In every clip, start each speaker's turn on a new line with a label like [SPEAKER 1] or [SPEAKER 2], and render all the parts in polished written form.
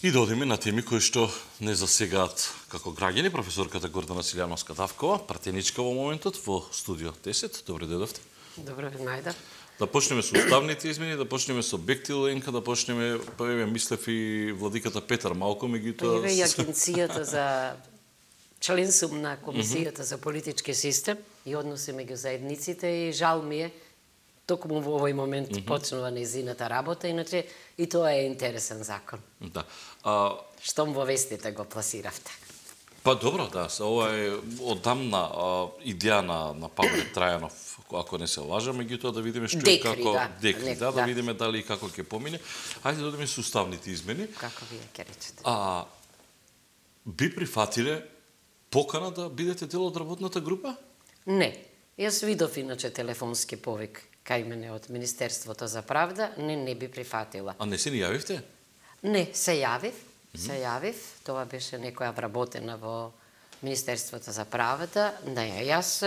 [SPEAKER 1] И да одиме на теми кои што не засегаат како граѓани. Професорката Гордана Силјановска-Давкова, пратеничка во моментот во студио 10. Добре дојдовте.
[SPEAKER 2] Добро ви најдов.
[SPEAKER 1] Да почнеме со уставните измени, да почнеме со Бехти Ленка, да почнеме, мислев и владиката Петар малку, меѓутоа...
[SPEAKER 2] Еве и агенцијата за член сум на Комисијата за политички систем и односи меѓу заедниците и жал ми е токму во овој момент почнува нејзината работа, иначе и тоа е интересен закон.
[SPEAKER 1] Да.
[SPEAKER 2] Штом во вестите го пласиравте.
[SPEAKER 1] Па добро, да, ова е одамна идеја на Павле Трајанов, ако не се лажа, меѓутоа да видиме што е како Декри, да видиме дали и како ќе помине. Ајде да одиме со уставните измени.
[SPEAKER 2] Како вие ќе речете?
[SPEAKER 1] Би прифатиле покана да бидете дел од работната група?
[SPEAKER 2] Не. Јас видов иначе телефонски повик кај мене од Министерството за правда, не би прифатила.
[SPEAKER 1] А не се ни јавивте?
[SPEAKER 2] Не, се јавив. Тоа беше некоја вработена во Министерството за правда. Не, јас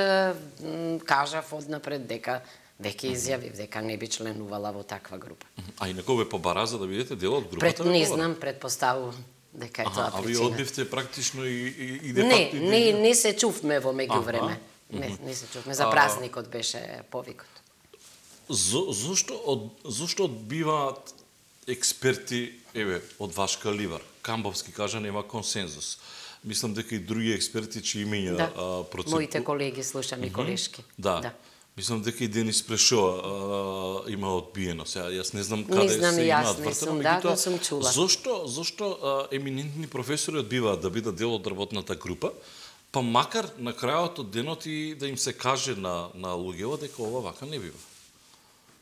[SPEAKER 2] кажав однапред дека веќе изјавив дека не би членувала во таква група.
[SPEAKER 1] А и некој ве побара за да бидете дел од групата?
[SPEAKER 2] Не знам, предпоставувам дека е тоа причина.
[SPEAKER 1] А ви одбивте практично и де
[SPEAKER 2] факто... Не се чувме во меѓувреме. Не се чувме. За празникот беше повикот.
[SPEAKER 1] Зошто одбиваат експерти, од ваш калибар? Камбовски кажа нема консензус. Мислам дека и други експерти чии имења процент...
[SPEAKER 2] Моите колеги, слушам и колешки.
[SPEAKER 1] Да. Мислам дека и Денис Прешоа има одбиено. Сега, јас не знам каде се имаат вртено,
[SPEAKER 2] меѓутоа сум чула.
[SPEAKER 1] Зошто еминентни професори одбиваат да бидат дел од работната група, па макар на крајот од денот и да им се каже на луѓето дека ова вака не бива?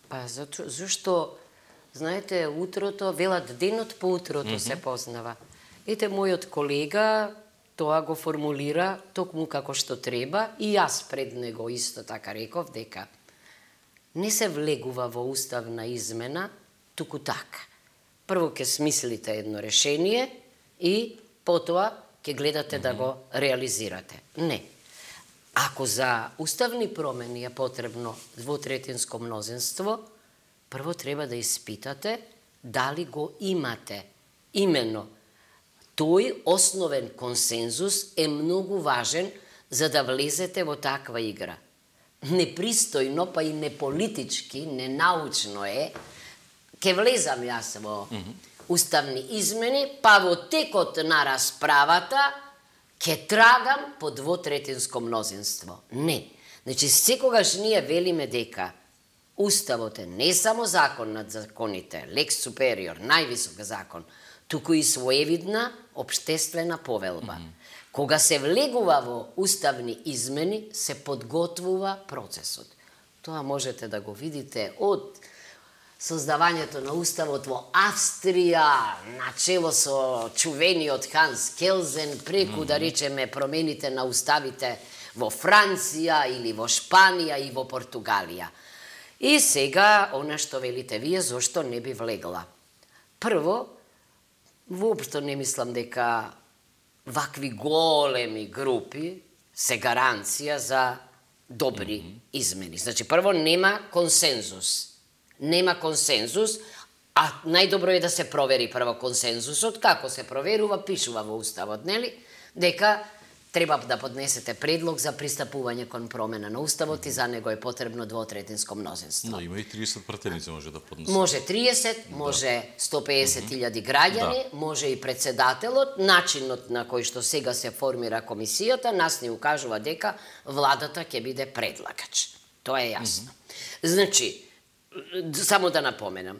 [SPEAKER 2] Па зашто, знаете, утрото, велат денот по утрото се познава. Ете, мојот колега тоа го формулира токму како што треба и јас пред него исто така реков дека не се влегува во уставна измена, туку така. Прво ќе смислите едно решение и потоа ќе гледате да го реализирате. Не. Ако за уставни промени е потребно двотретинско мнозинство, прво треба да испитате дали го имате. Имено, тој основен консензус е многу важен за да влезете во таква игра. Непристојно, па и неполитички, ненаучно е, ке влезам јас во уставни измени, па во текот на расправата ке трагам по двотретинско мнозинство. Не. Значи, секогаш ние велиме дека Уставот е не само закон над законите, лекс супериор, највисок закон, туку и своевидна обштествена повелба. Кога се влегува во уставни измени, се подготвува процесот. Тоа можете да го видите од создавањето на уставот во Австрија, начело со чувениот Ханс Келзен, преку да речеме промените на уставите во Франција или во Шпанија и во Португалија. И сега, она што велите вие, зошто не би влегла? Прво, воопшто не мислам дека вакви големи групи се гаранција за добри измени. Значи, прво, нема консензус. Нема консензус, а најдобро е да се провери прво консензусот. Како се проверува, пишува во уставот, нели? Дека треба да поднесете предлог за пристапување кон промена на уставот и за него е потребно двотретинско мнозинство.
[SPEAKER 1] Но има и 30 пратеници може да поднесе.
[SPEAKER 2] Може 30, може 150.000 граѓани, може и председателот. Начинот на кој што сега се формира комисијата нас ни укажува дека владата ќе биде предлагач. Тоа е јасно. Значи, само да напоменам,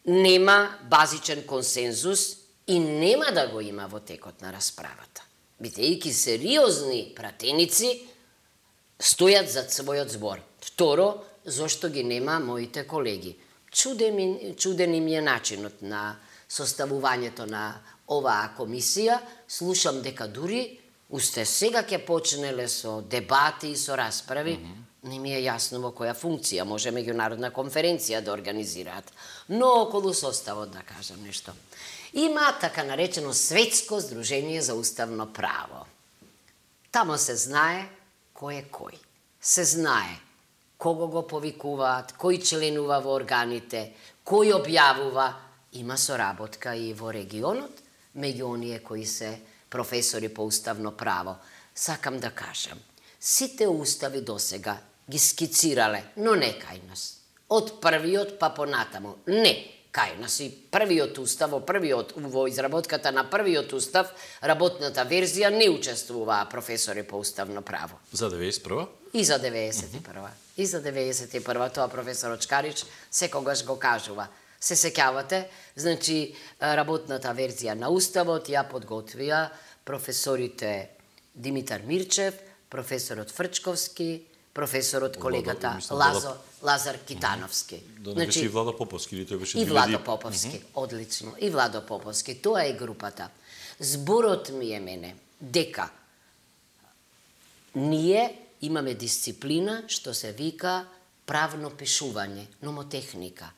[SPEAKER 2] нема базичен консензус и нема да го има во текот на расправата. Бидејќи сериозни пратеници стојат зад својот збор. Второ, зошто ги нема моите колеги? Чуден им е начинот на составувањето на оваа комисија. Слушам дека дури уште сега ќе почнеле со дебати и со расправи. Не ми е јасно во која функција може меѓународна конференција да организираат. Но околу составот да кажам нешто. Има така наречено Светско здружение за уставно право. Тамо се знае кој е кој. Се знае кого го повикуваат, кој членува во органите, кој објавува. Има соработка и во регионот. меѓу оние кои се професори по уставно право. Сакам да кажам, сите устави досега ги скицирале, но не кај нас. Од првиот па понатаму. Не, кај нас и првиот устав, во изработката на првиот устав, работната верзија не учествуваа професори по уставно право.
[SPEAKER 1] За 91-а?
[SPEAKER 2] И за 91-а. И за 91-а, тоа професор Очкарич секогаш го кажува. Се сеќавате, значи, работната верзија на уставот ја подготвија професорите Димитар Мирчев, професорот Фрчковски, професорот колегата Лазар Китановски.
[SPEAKER 1] Да не беше и Владо Поповски, или тој беше...
[SPEAKER 2] И Владо Поповски, одлично. И Владо Поповски, тоа е групата. Зборот ми е мене дека ние имаме дисциплина што се вика правно пишување, номотехника.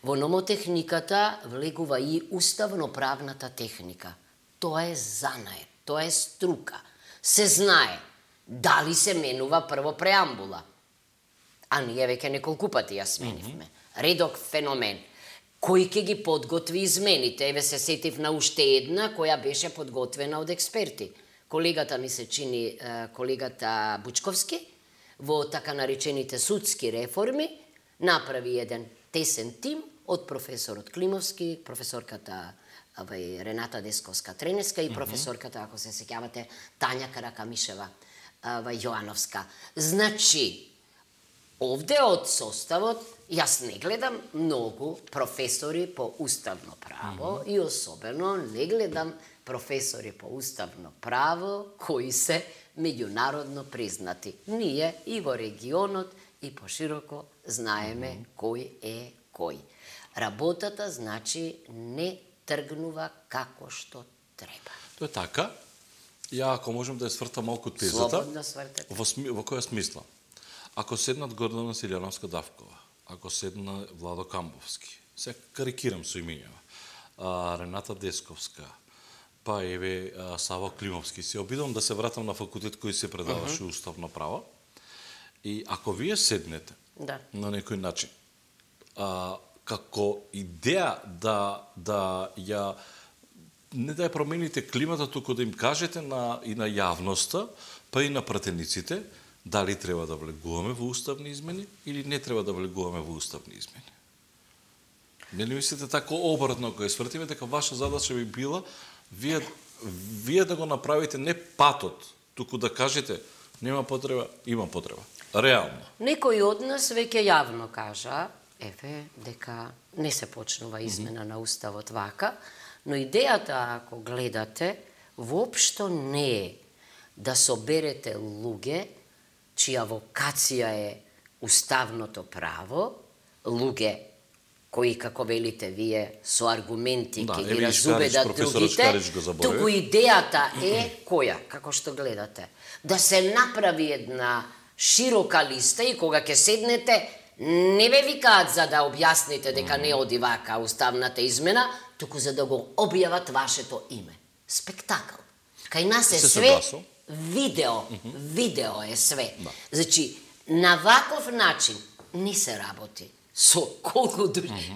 [SPEAKER 2] Во номотехниката влегува и уставно-правната техника. Тоа е занае, тоа е струка. Се знае дали се менува прво преамбула. А ние веќе неколку пати ја сменивме. Редок феномен. Кој ќе ги подготви измените? Еве се сетив на уште една која беше подготвена од експерти. Колегата ми се чини, колегата Бучковски, во така наречените судски реформи, направи еден тесен тим од професорот Климовски, професорката Рената Десковска-Тренеска и професорката, ако се сеќавате, Тања Каракамишева Јоановска. Значи, овде од составот, јас не гледам многу професори по уставно право и особено не гледам професори по уставно право кои се меѓународно признати. Ние и во регионот и пошироко знаеме кој е кој. Работата, значи, не тргнува како што треба.
[SPEAKER 1] Тоа е така. Ја, ако можем да ја свртам малку тезата,
[SPEAKER 2] слободно свртете.
[SPEAKER 1] Во која смисла? Ако седнат Гордана Силјановска-Давкова, ако седна Владо Камбовски, се карикирам со имењава, Рената Десковска, па еве Саво Климовски, се обидам да се вратам на факултет кој се предаваше уставно право, и ако вие седнете на некој начин, како идеја да ја не да ја промените климата, туку да им кажете и на јавноста, па и на пратениците, дали треба да влегуваме во уставни измени или не треба да влегуваме во уставни измени. Не ли мислите тако обратно, кога свртиме, дека ваша задача би била вие да го направите не патот, туку да кажете нема потреба, има потреба. Реално.
[SPEAKER 2] Некој од нас веќе јавно кажа, еве, дека не се почнува измена на уставот вака, но идејата, ако гледате, воопшто не е да соберете луѓе чија вокација е уставното право, луѓе кои, како велите вие, со аргументи ќе ги разубедат другите, туку идејата е која, како што гледате, да се направи една широка листа и кога ќе седнете, не ве викаат за да објасните дека не оди вака уставната измена, туку за да го објават вашето име. Спектакл. Кај нас е све видео е све. Значи, на ваков начин не се работи. Со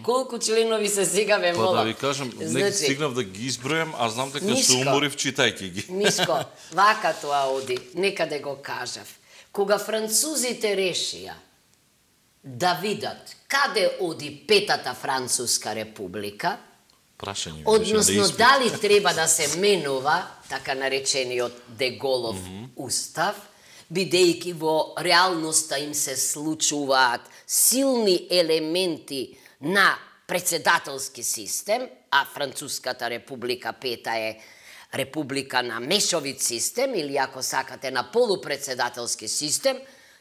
[SPEAKER 2] колку членови се сега ве молам.
[SPEAKER 1] Па да ви кажам, не стигнав да ги избројам, а знам дека се уморив читајќи ги.
[SPEAKER 2] Мишко, вака тоа оди, некаде го кажав. Кога французите решија да видат каде оди Петата Француска република, односно дали треба да се менува така наречениот Деголов устав, бидејќи во реалноста им се случуваат силни елементи на председателски систем, а Француската република Пета е република на мешовит систем, или ако сакате на полупредседателски систем,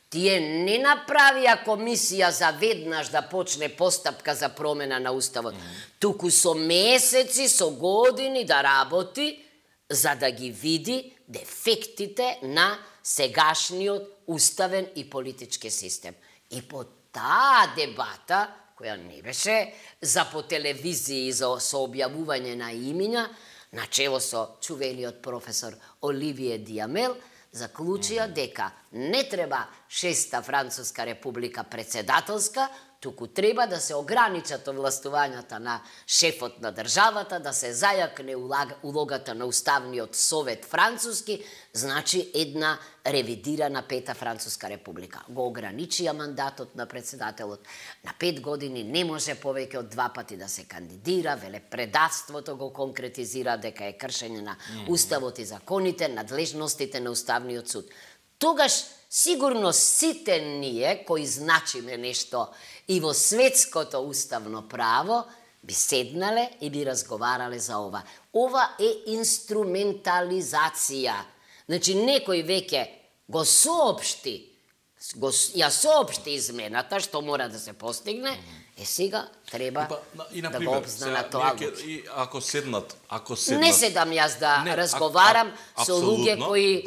[SPEAKER 2] тие не направија комисија за веднаш да почне постапка за промена на уставот, туку со месеци, со години да работи, за да ги види дефектите на сегашниот уставен и политички систем. И по таа дебата, која не беше за по телевизии со објавување на имиња, начело со чувелиот професор Оливие Диамел, заклучија дека не треба 6-та Француска република председателска, туку треба да се ограничат овластувањата на шефот на државата, да се зајакне улогата на Уставниот совет француски, значи една ревидирана 5-та Француска република. Го ограничија мандатот на председателот на 5 години, не може повеќе од 2 пати да се кандидира, велепредавството го конкретизира дека е кршење на Уставот и законите, надлежностите на Уставниот суд. Тогаш сигурно сите ние кои значиме нешто и во светското уставно право би седнале и би разговарале за ова. Ова е инструментализација. Значи, некој веќе го соопшти, ја соопшти измената што мора да се постигне, сега треба да го обзнана тоа.
[SPEAKER 1] Ако седнат...
[SPEAKER 2] Не седам јас да разговарам со луѓе кои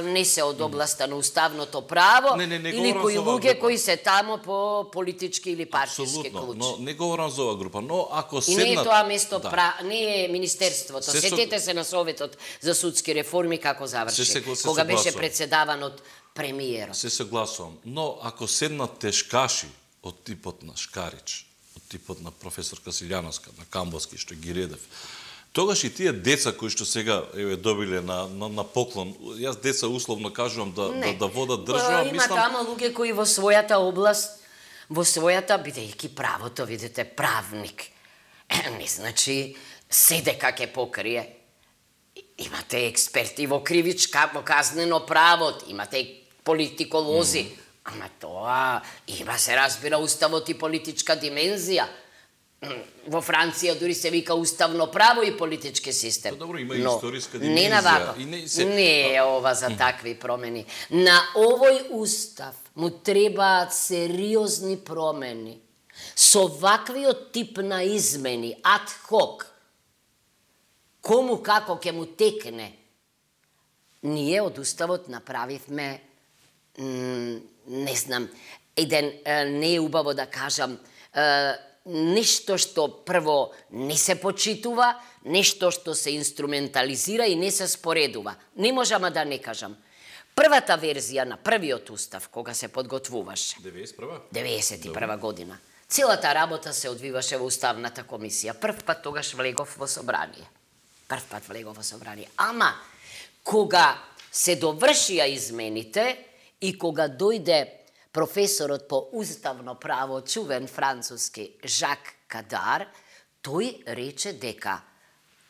[SPEAKER 2] не се од областа на уставното право или кои луѓе кои се тамо по политички или партиски клучи.
[SPEAKER 1] Но не говорам за оваа група, но ако седнат...
[SPEAKER 2] И не е тоа место, не е Министерството. Сетете се на Советот за судски реформи како заврши, кога беше председаван од премиерот.
[SPEAKER 1] Се согласувам, но ако седнат тешкаши од типот на Шкарич, од типот на професор Касилјановска, на Камбовски, што ги редев, тогаш и тие деца кои што сега добиле на поклон, јас деца условно кажувам да водат држава,
[SPEAKER 2] има тamo луѓе кои во својата област, во својата, бидејќи правото, видите, правник, не значи седе как ќе покрие. Имате експерти во кривичка, во казнено право, имате политиколози, ама тоа има, се разбира, уставот и политичка димензија. Во Франција дури се вика уставно право и политички систем.
[SPEAKER 1] Добро, има и историска димензија.
[SPEAKER 2] Не на вако. Не е ова за такви промени. На овој устав му требаат сериозни промени. Со ваквиот тип на измени, ад хок, кому како ќе му текне, ние од уставот направивме, не знам, еден, не е убаво да кажам, нешто што прво не се почитува, нешто што се инструментализира и не се споредува. Не можам да не кажам. Првата верзија на првиот устав, кога се подготвуваше, 91 година, целата работа се одвиваше во Уставната комисија. Прв пат тогаш влегов во собрание. Ама, кога се довршија измените и кога дојде професорот по уставно право, чувен француски Жак Кадар, тој рече дека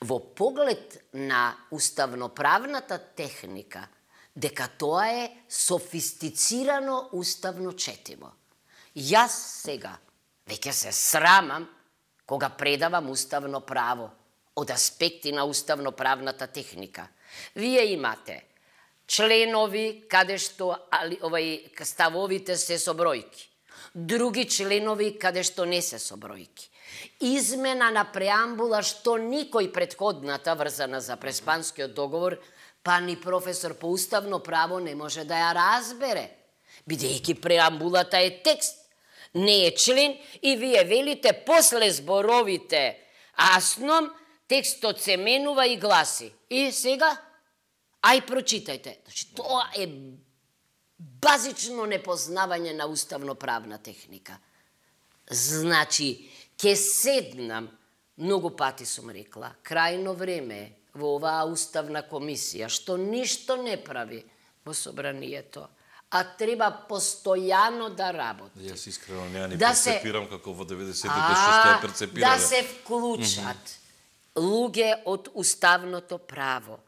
[SPEAKER 2] во поглед на уставноправната техника, дека тоа е софистицирано уставно четиво. Јас сега веќе се срамам кога предавам уставно право од аспекти на уставноправната техника. Вие имате членови каде што ставовите се со бројки, други членови каде што не се со бројки. Измена на преамбула што никој предходната врзана за Преспанскиот договор, па ни професор по уставно право не може да ја разбере, бидејќи преамбулата е текст, не е член и вие велите после зборовите асном текстот се менува и гласи. И сега ај прочитајте. Значи, тоа е базично непознавање на уставноправна техника. Значи, ке седнам, многу пати сум рекла, крајно време во оваа уставна комисија, што ништо не прави во собранието, а треба постојано да работи.
[SPEAKER 1] Јас искрено не перцепирам како во 90-те што сте ја перцепирале.
[SPEAKER 2] Да се вклучат луѓе од уставното право,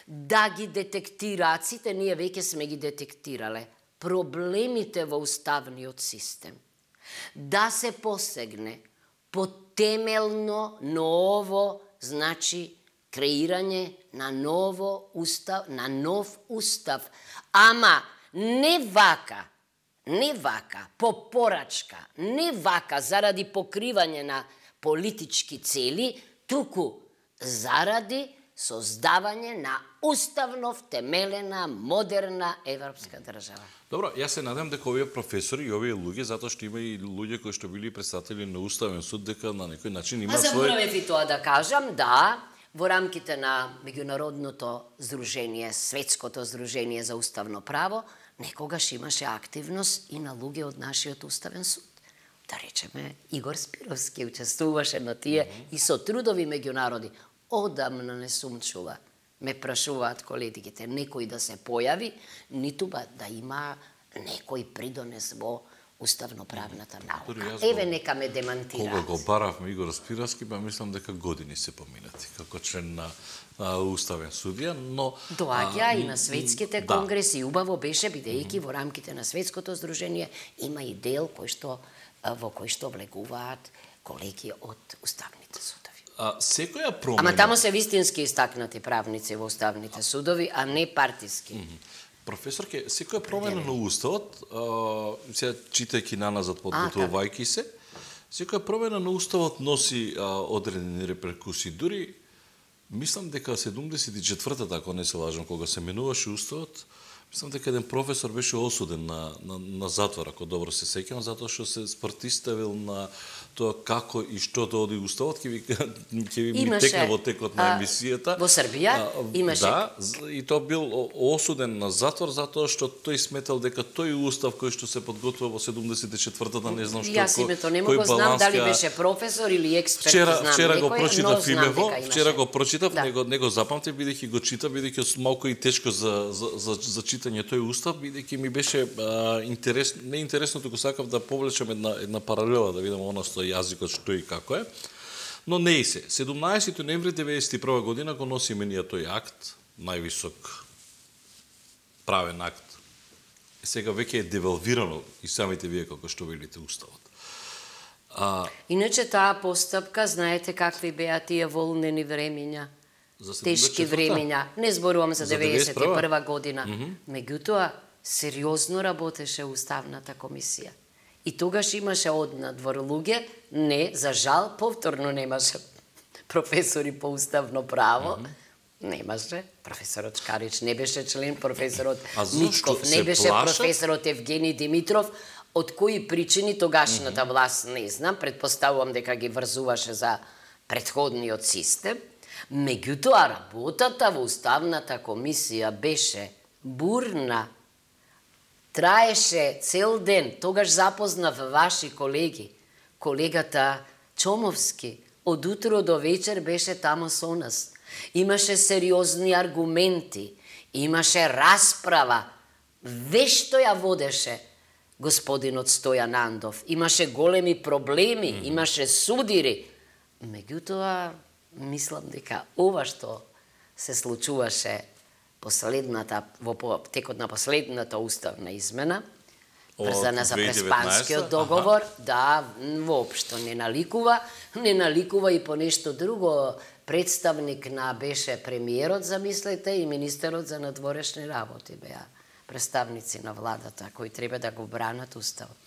[SPEAKER 2] да ги детектираат, сите ние веќе сме ги детектирале, проблемите во уставниот систем, да се посегне по темелно ново, значи, креирање на нов устав, ама не вака, по порачка, не вака заради покривање на политички цели, туку заради создавање на уставно втемелена, модерна европска држава.
[SPEAKER 1] Добро, јас се надам дека овие професори и овие луѓе, затоа што има и луѓе кои што били представители на Уставен суд, дека на некој начин има свој...
[SPEAKER 2] Заборавив и тоа да кажам, да, во рамките на меѓународното здружение, светското здружение за уставно право, некогаш имаше активност и на луѓе од нашиот уставен суд. Да речеме, Игор Спировски учествуваше на тие и со трудови меѓународи. Одамна не сум чула. Ме прашуваат колегите, некој да се појави, ниту да има некој придонес во уставно-правната наука. Еве нека ме демантираат.
[SPEAKER 1] Кога го баравме Игор Спировски, мислам дека години се поминати како член на уставен судија, но
[SPEAKER 2] доаѓа и на светските конгреси, убаво беше бидејќи во рамките на светското здружение има и дел во кој што влегуваат колеги од уставните судови.
[SPEAKER 1] Секоја промена...
[SPEAKER 2] Ама тамо се вистински истакнати правници во уставните судови, а не партиски.
[SPEAKER 1] Професорке, секоја промена на уставот, сега читајќи наназад, подготовувајќи се, секоја промена на уставот носи одредени реперкусии. Дури, мислам дека 74-та, ако не се лажам, кога се менуваше уставот, мислам дека еден професор беше осуден на затвор, ако добро се сеќавам, затоа што се спартиставил на тоа како и што да оди уставот, ќе ви текне во текот на емисијата.
[SPEAKER 2] Во Србија имаше.
[SPEAKER 1] Да, и тоа бил осуден на затвор затоа што тој сметал дека тој устав кој што се подготвува во 74-та, не знам што
[SPEAKER 2] Јас името не го знам дали беше професор или експерт, знам.
[SPEAKER 1] Вчера го прочитав имево, вчера го прочитав, не го запамтив бидејќи го читав, бидејќи малку и тешко за читање тој устав, бидејќи ми беше не интересно, туку сакав да повлечам една паралела, да видам оно што јазикот што и како е. Но не и се. 17 ноември 1991 година го носи менија тој акт, највисок правен акт. Сега веќе е девалвирано и самите вие како што велите уставот.
[SPEAKER 2] Иначе таа постапка, знаете какви беа тие волнени времења, тешки времења. Не зборувам за 91 година. Меѓутоа, сериозно работеше Уставната комисија. И тогаш имаше однадвор луѓе, не, за жал, повторно немаше професори по уставно право, немаше. Професорот Шкарич не беше член, професорот Митков не беше, професорот Евгений Димитров. Од кои причини тогашната власт не знам, предпоставувам дека ги врзуваше за претходниот систем. Меѓутоа, работата во Уставната комисија беше бурна, траеше цел ден. Тогаш запознав ваши колеги. Колегата Чомовски од утро до вечер беше тамо со нас. Имаше сериозни аргументи, имаше расправа. Вешто ја водеше господинот Стојан Андов. Имаше големи проблеми, имаше судири. Меѓутоа, мислам дека ова што се случуваше во текот на последната уставна измена, врзана за Преспанскиот договор, воопшто не наликува и по нешто друго. Представник беше премиерот, замислете, и министерот за надворешни работи беа представници на владата кои треба да го бранат уставот.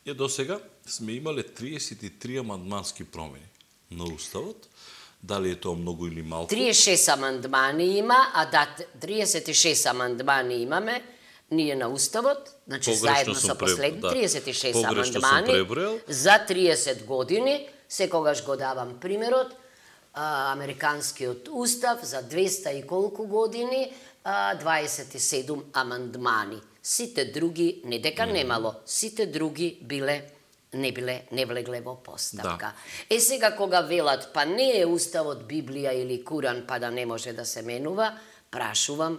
[SPEAKER 1] До сега сме имале 33 амандмански промени на уставот. Дали е тоа многу или малку?
[SPEAKER 2] 36 амандмани има, 36 амандмани имаме ние на уставот, значи заедно со последни 36 амандмани за 30 години. Секогаш го давам примерот, американскиот устав за 200 и колку години, 27 амандмани. Сите други, не дека немало, сите други не влегле во постапка. Сега кога велат, па не е уставот Библија или Куран, па да не може да се менува, прашувам,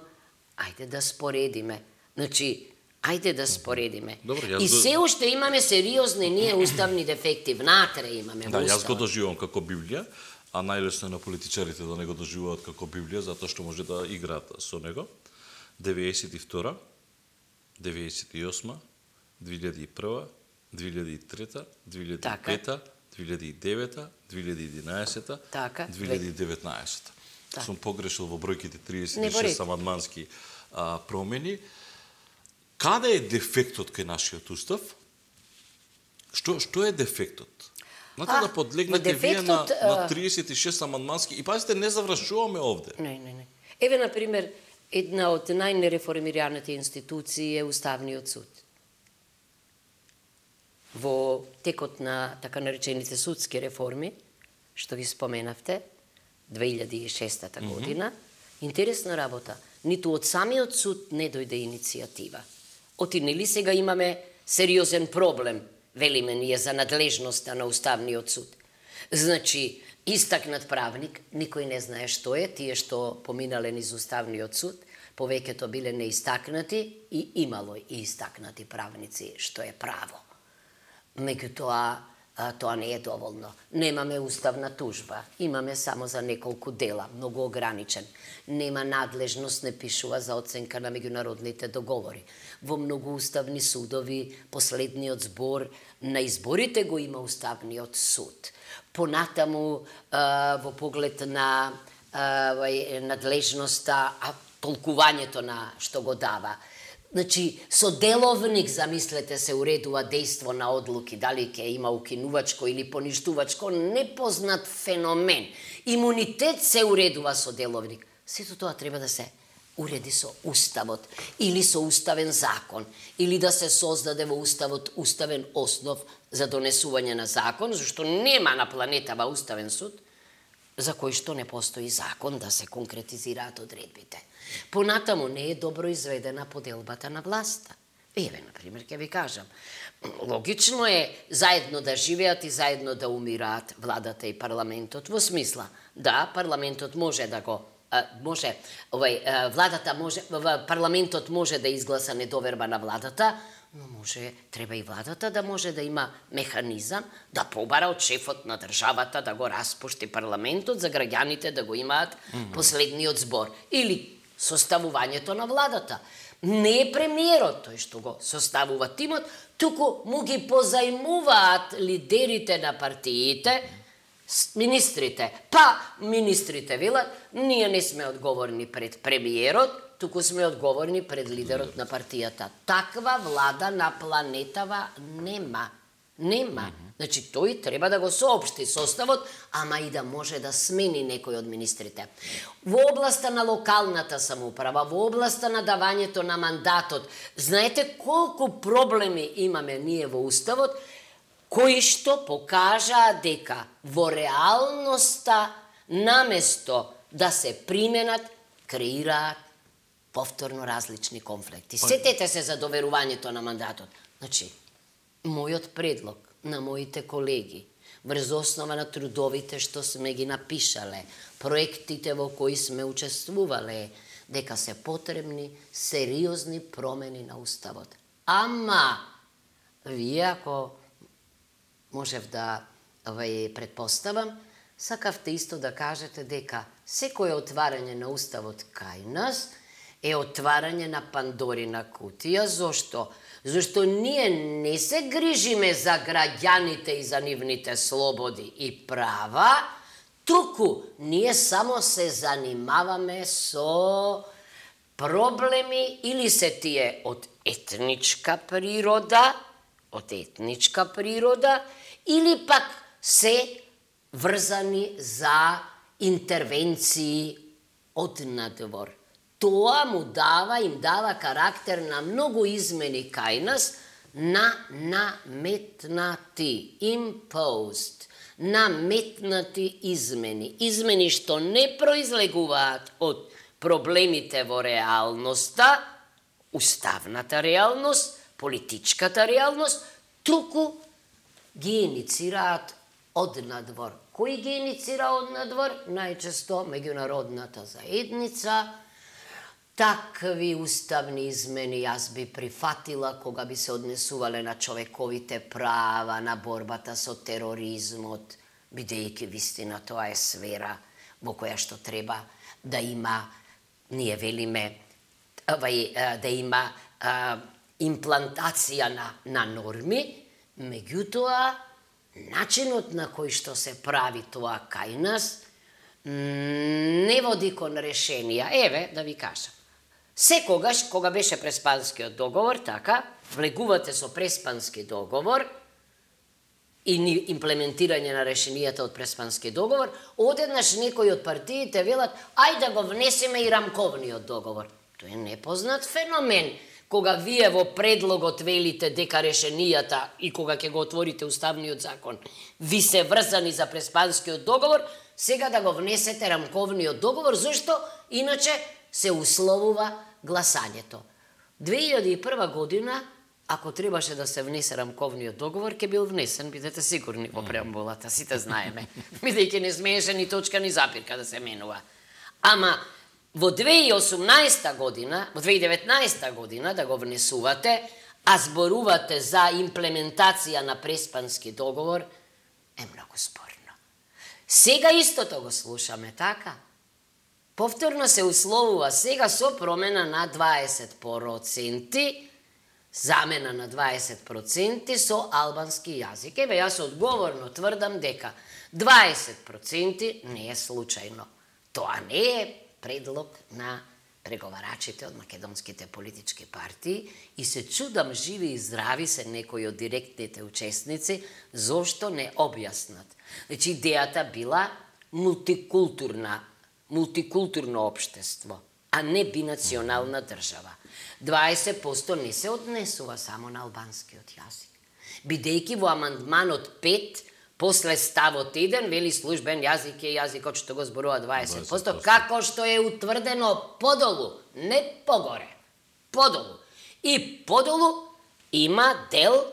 [SPEAKER 2] ајде да споредиме. Значи, ајде да споредиме. И се уште имаме сериозни ние уставни дефекти, внатре имаме во уставот.
[SPEAKER 1] Јас го доживувам како Библија, а најлесно е на политичарите да не го доживуваат како Библија, затоа што може да играат со него. 92, 98, 2001, 2003, 2005, 2009, 2011, 2019. Сум погрешил во бројките 36 амандмански промени. Каде е дефектот кај нашиот устав? Што е дефектот? Знаете да подлегнете вие на 36 амандмански и пазите, не завршуваме овде.
[SPEAKER 2] Не. Еве, например, една од најнереформираните институции е Уставниот суд. Во текот на така наречените судски реформи, што ги споменавте, 2006 година, интересна работа. Ниту од самиот суд не дојде иницијатива. Оти нели сега имаме сериозен проблем, велиме ние, за надлежноста на Уставниот суд. Значи, истакнат правник, никој не знае што е, тие што поминале низ Уставниот суд, повеќето биле неистакнати и имало и истакнати правници, што е право. Меѓутоа, тоа не е доволно. Немаме уставна тужба, имаме само за неколку дела, многу ограничен. Нема надлежност, не пишува за оценка на меѓународните договори. Во многу уставни судови, последниот збор на изборите го има Уставниот суд. Понатаму, во поглед на надлежноста, толкувањето на што го дава. Значи, со деловник, замислете се, уредува дејство на одлуки, дали ќе има укинувачко или поништувачко, непознат феномен. Имунитет се уредува со деловник. Сето тоа треба да се уреди со уставот, или со уставен закон, или да се создаде во уставот уставен основ за донесување на закон, зашто нема на планетава уставен суд, за кој што не постои закон да се конкретизираат одредбите. Понатаму не е добро изведена поделбата на власта. Еве, например, ќе ви кажам, логично е заедно да живеат и заедно да умираат владата и парламентот, во смисла, да, парламентот може да го парламентот може да изгласа недоверба на владата, но треба и владата да може да има механизам да побара од шефот на државата да го распушти парламентот за граѓаните да го имаат последниот збор. Или составувањето на владата. Не е премиерот тој што го составува тимот, туку му ги позајмуваат лидерите на партиите, министрите. Па, министрите велат, ние не сме одговорни пред премиерот, туку сме одговорни пред лидерот на партијата. Таква влада на планетава нема. Нема. Значи, тој треба да го соопшти составот, ама и да може да смени некој од министрите. Во областа на локалната самоуправа, во областа на давањето на мандатот, знаете колку проблеми имаме ние во Уставот, кои што покажаа дека во реалноста, наместо да се применат, креираат повторно различни конфликти. Сетете се за доверувањето на мандатот. Значи, мојот предлог на моите колеги, врз основа на трудовите што сме ги напишале, проектите во кои сме учествувале, дека се потребни сериозни промени на Уставот. Ама, вие ако можев да предпоставам, сакавте исто да кажете дека секое отварање на Уставот кај нас е отварање на Пандорина кутија. Зошто? Зашто ние не се грижиме за граѓаните и за нивните слободи и права, туку ние само се занимаваме со проблеми или се тие од етничка природа, или пак се врзани за интервенции од надвор. Тоа им дава карактер на многу измени кај нас, на наметнати, imposed, наметнати измени. Измени што не произлегуваат од проблемите во реалноста, уставната реалност, политичката реалност, туку ги иницираат од надвор. Кој ги иницира од надвор? Најчесто меѓународната заедница. Такви уставни измени јас би прифатила кога би се однесувале на човековите права, на борбата со тероризмот, бидејќи вистина тоа е сфера во која што треба да има, ние велиме, да има имплантација на норми, меѓутоа, начинот на кој што се прави тоа кај нас не води кон решенија. Еве, да ви кажам. Секогаш, кога беше Преспанскиот договор, така, влегувате со Преспански договор и имплементирање на решенијата од Преспански договор, одеднаш некои од партиите велат, ајде да го внесеме и рамковниот договор. Тоа е непознат феномен. Кога вие во предлогот велите дека решенијата и кога ќе го отворите Уставниот закон, ви се врзани за Преспанскиот договор, сега да го внесете рамковниот договор, зашто иначе се условува гласањето. 2001 година, ако требаше да се внесе рамковниот договор, ќе бил внесен, бидете сигурни во преамбулата, сите знаеме. Бидејќи не смееше ни точка ни запирка да се менува. Ама во 2018 година, во 2019 година да го внесувате, а зборувате за имплементација на Преспански договор, е многу спорно. Сега истото го слушаме, така? Повторно се условува сега со промена на 20%, замена на 20% со албански јазик. Еве, јас одговорно тврдам дека 20% не е случајно. Тоа не е предлог на преговарачите од македонските политички партии и се чудам живи и здрави се некои од директните учесници зошто не објаснат. Значи, идејата била мултикултурно општество, а не бинационална држава. 20% не се однесува само на албанскиот јазик. Бидејќи во амандманот 5, после ставот 1, вели службен јазик е јазикот што го зборува 20%, како што е утврдено подолу, не погоре, подолу. И подолу има дел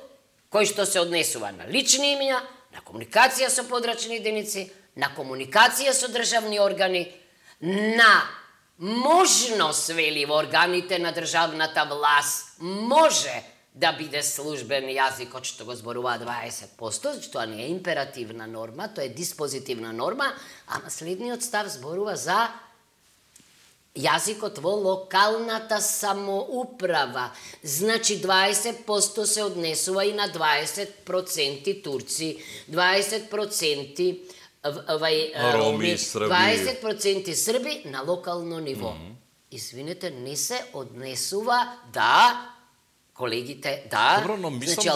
[SPEAKER 2] кој што се однесува на лични имиња, на комуникација со подрачни единици, на комуникација со државни органи, на можност, вели, во органите на државната власт, може да биде службен јазикот што го зборува 20%, тоа не е императивна норма, тоа е диспозитивна норма, ама следниот став зборува за јазикот во локалната самоуправа. Значи 20% се однесува и на 20% турци, 20% роми, 20% срби на локално ниво. Извинете, не се однесува колегите, значи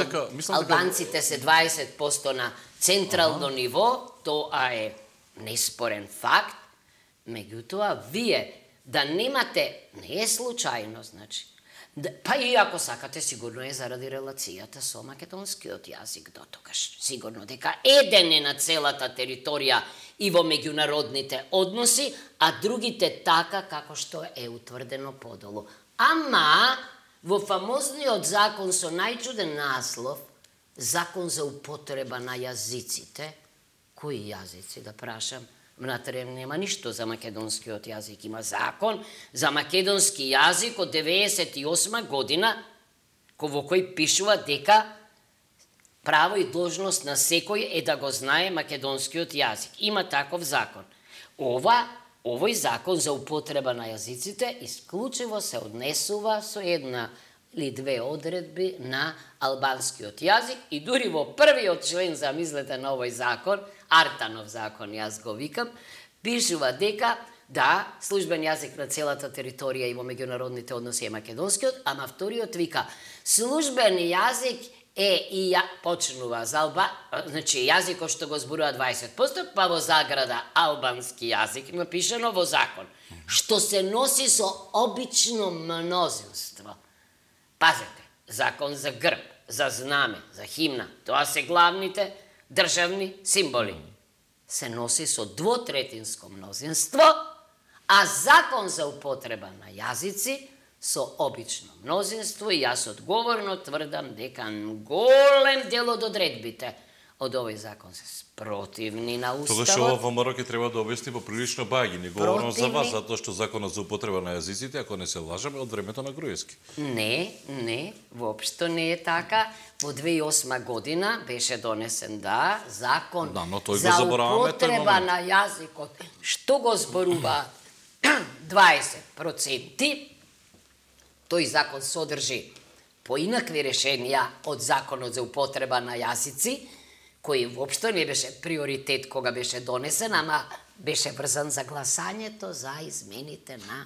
[SPEAKER 2] албанците се 20% на централно ниво, тоа е неспорен факт, меѓутоа вие да немате, не е случајно, значи, па и ако сакате, сигурно е заради релацијата со македонскиот јазик до тогаш, сигурно дека еден е на целата територија и во меѓународните односи, а другите така како што е утврдено подолу. Ама во фамозниот закон со најчуден наслов, закон за употреба на јазиците, кои јазици, да прашам, внатре нема ништо за македонскиот јазик, има закон за македонски јазик од 98 година, во кој пишува дека право и должност на секој е да го знае македонскиот јазик. Има таков закон. Овој закон за употреба на јазиците исклучиво се однесува со една или две одредби на албанскиот јазик и дури во првиот член, замислете, на овој закон, Артанов закон, јас го викам, пишува дека службен јазик на целата територија и во меѓународните односи е македонскиот, ама вториот вика службен јазик е и почнува за значи јазикот што го зборува 20%, па во заграда албански јазик напишано во закон, што се носи со обично мнозинство. Пазете, закон за грб, за знаме, за химна, тоа се главните државни символи. Се носи со двотретинско мнозинство, а закон за употреба на јазици со обично мнозинство и јас одговорно тврдам дека голем дел од одредбите од овој закон се спротивни на уставот.
[SPEAKER 1] Тогаш ова ВМРО ќе треба да објасни поприлично баги. Не говорам за вас, затоа што законот за употреба на јазиците, ако не се лажаме, од времето на Груевски.
[SPEAKER 2] Не, воопшто не е така. Во 2008 година беше донесен закон за употреба на јазикот. Што го зборува 20%? Тој закон содржи поинакви решенија од законот за употреба на јазици, кој воопшто не беше приоритет кога беше донесен, ама беше врзан за гласањето за измените на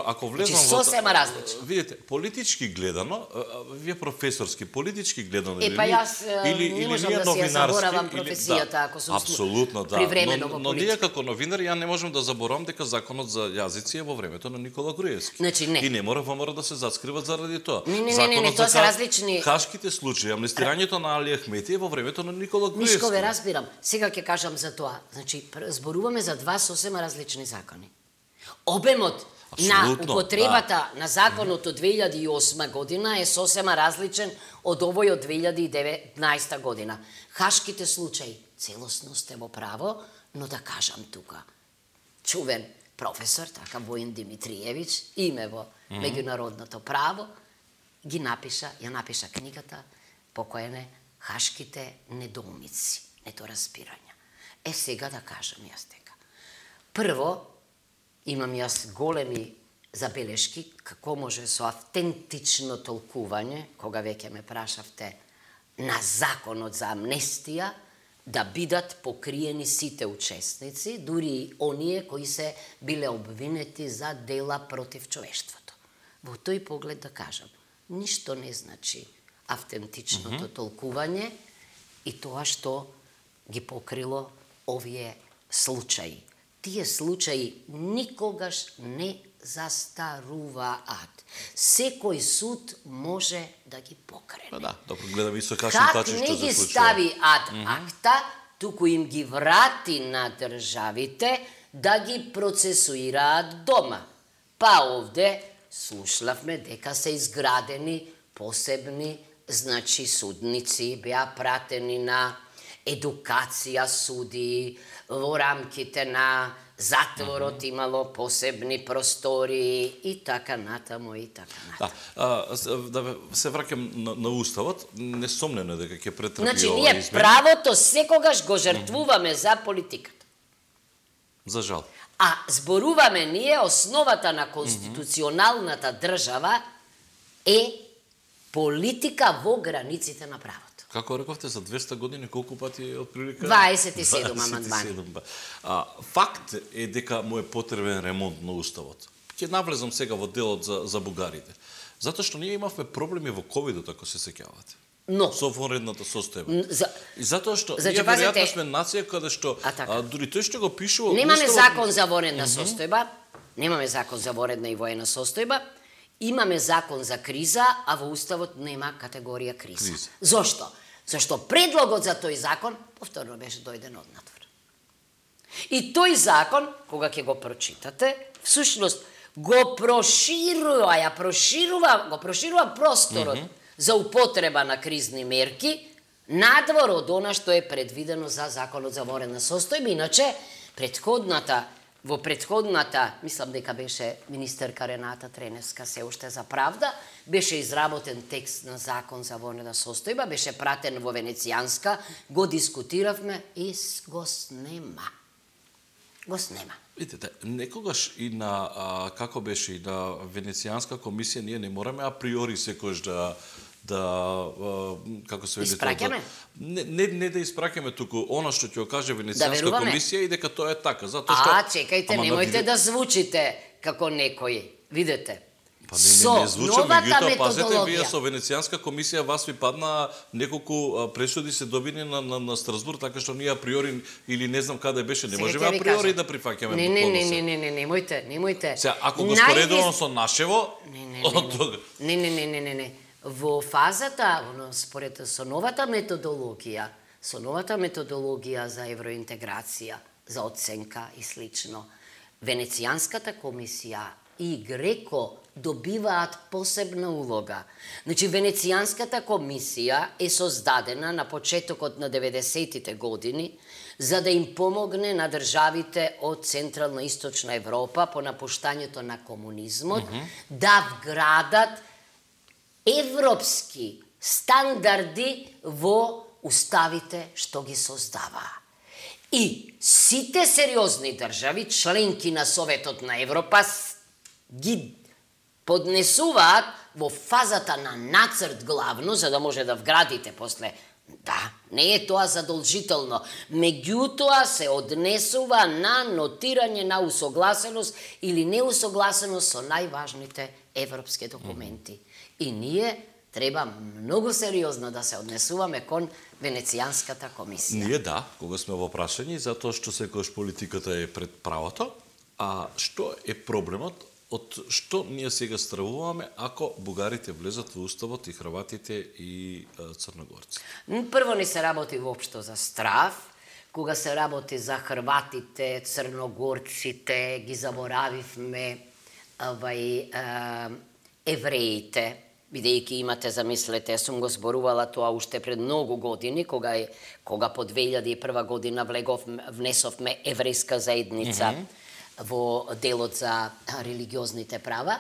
[SPEAKER 1] ако влезам
[SPEAKER 2] во сосема различно.
[SPEAKER 1] Видите, политички гледано, вие професорски, политички гледано
[SPEAKER 2] или не можам да си ја заборавам професијата ако сум
[SPEAKER 1] апсолутно
[SPEAKER 2] привремено во политика.
[SPEAKER 1] Но ние како новинар ја не можам да заборавам дека законот за јазици е во времето на Никола Груевски.
[SPEAKER 2] Значи не.
[SPEAKER 1] И не мора да се заскриват заради тоа.
[SPEAKER 2] Не, тоа се различни.
[SPEAKER 1] Хашките случаи, амнестирањето на Али Ахмети е во времето на Никола Груевски.
[SPEAKER 2] Мишко, ве разбирам. Сега ќе кажам за тоа. Значи, зборуваме за два сосема различни закони. Обемот на употребата на законот од 2008 година е сосема различен од овој од 2019 година. Хашките случаи, целосно сте во право, но да кажам тука, чувен професор, така Воин Димитриевич, име во меѓународното право, ја напиша книгата покоене Хашките недоумици, недоразбирања. Сега да кажам јас дека. Прво, имам јас големи забелешки како може со автентично толкување, кога веќе ме прашавте на законот за амнестија, да бидат покриени сите учесници, дури и оние кои се биле обвинети за дела против човештвото. Во тој поглед да кажам, ништо не значи автентичното толкување и тоа што ги покрило овие случаи. Тие случаи никогаш не застаруваат. Секој суд може да ги покрене.
[SPEAKER 1] Да, гледаме исто кашен тачи што се случува. Как
[SPEAKER 2] не ги стави ад акта, туку им ги врати на државите да ги процесуираат дома. Па овде слушнавме дека се изградени посебни, судници, беа пратени на едукација суди, во рамките на затворот имало посебни простори и така натаму и така натаму.
[SPEAKER 1] Да се враќам на Уставот, несомнено дека ќе претрпи ова измени.
[SPEAKER 2] Ние правото секогаш го жртвуваме за политиката.
[SPEAKER 1] За жал.
[SPEAKER 2] А зборуваме ние основата на конституционалната држава е политика во границите на правото.
[SPEAKER 1] Како рековте, за 200 години колку пати од прилика?
[SPEAKER 2] 27 амандмани.
[SPEAKER 1] Факт е дека му е потребен ремонт на Уставот. Ќе навлезам сега во делот за бугарите. Затоа што ние имавме проблеми во ковидот, ако се сеќавате.
[SPEAKER 2] Но
[SPEAKER 1] со вонредната состојба. И затоа што ние веројатно сме нација каде што дури тој што го пишува
[SPEAKER 2] немаме закон за вонредна состојба, немаме закон за вонредна и воена состојба. Имаме закон за криза, а во Уставот нема категорија криза. Зошто? Зашто предлогот за тој закон повторно беше дојден од надвор. И тој закон, кога ќе го прочитате, всушност го проширува просторот за употреба на кризни мерки надвор од она што е предвидено за законот за вонредна состојба. Иначе, во предходната, мислам дека беше министерка Рената Треневска се уште за правда, беше изработен текст на закон за вонредна состојба, беше пратен во Венецијанска, го дискутиравме и го снема.
[SPEAKER 1] Видите, некогаш и на, како беше, и на Венецијанска комисија, ние не мораме априори секојаш како се вели
[SPEAKER 2] испраќаме?
[SPEAKER 1] Не да испраќаме, туку она што ќе го каже Венецијанска комисија и дека тоа е така, затоа што
[SPEAKER 2] чекајте, немојте да звучите како некои. Видете.
[SPEAKER 1] Па не звучаме, меѓутоа пазете, вие со Венецијанска комисија вас ви падна неколку пресуди се добини на Страсбург, така што ние априори или не знам каде беше, не можеме априори да прифаќаме.
[SPEAKER 2] Не, немојте.
[SPEAKER 1] Сега, ако го споредувам со нашево,
[SPEAKER 2] Не. Во фазата, според со новата методологија за евроинтеграција, за оценка и слично, Венецијанската комисија и Греко добиваат посебна улога. Значи, Венецијанската комисија е создадена на почетокот на 90-тите години за да им помогне на државите од Централна и Источна Европа по напуштањето на комунизмот да вградат европски стандарди во уставите што ги создаваа. И сите сериозни држави, членки на Советот на Европа, ги поднесуваат во фазата на нацрт главно, за да може да вградите после. Да, не е тоа задолжително. Меѓутоа се однесува на нотирање на усогласеност или неусогласеност со најважните европски документи. И ние треба многу сериозно да се однесуваме кон Венецијанската комисија.
[SPEAKER 1] Ние кога сме во прашање, затоа што секогаш политиката е пред правото, а што е проблемот, од што ние сега стравуваме ако бугарите влезат во Уставот и хрватите и црногорци?
[SPEAKER 2] Прво не се работи воопшто за страв, кога се работи за хрватите, црногорците, ги заборавивме евреите, бидејќи имате, замислете, сум го зборувала тоа уште пред многу години, кога по 2001 година внесовме еврејска заедница во делот за религиозните права.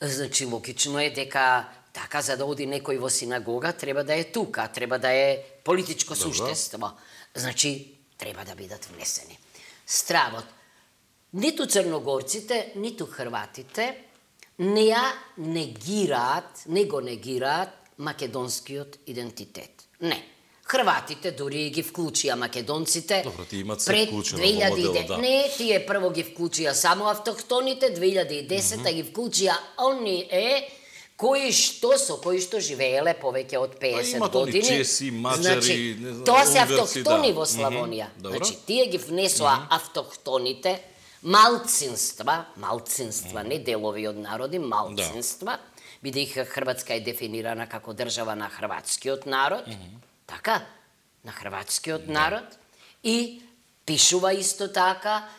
[SPEAKER 2] Значи, логично е дека така, за да оди некој во синагога, треба да е тука, треба да е политичко суштество. Значи, треба да бидат внесени. Стравот. Ниту црногорците, ниту хрватите не го негираат македонскиот идентитет. Не. Хрватите дури ги вклучија македонците.
[SPEAKER 1] Добро, ти имат се вклучено во моделот, да.
[SPEAKER 2] Не, тие прво ги вклучија само автохтоните, 2010 ги вклучија оние кои што живееле повеќе од 50 години.
[SPEAKER 1] Имат они чеси, маđари,
[SPEAKER 2] тоа се автохтони во Славонија. Значи, тие ги внесоа автохтоните, малцинства, не делови од народи, малцинства, бидејќи Хрватска е дефинирана како држава на хрватскиот народ, така, на хрватскиот народ, и пишува исто така,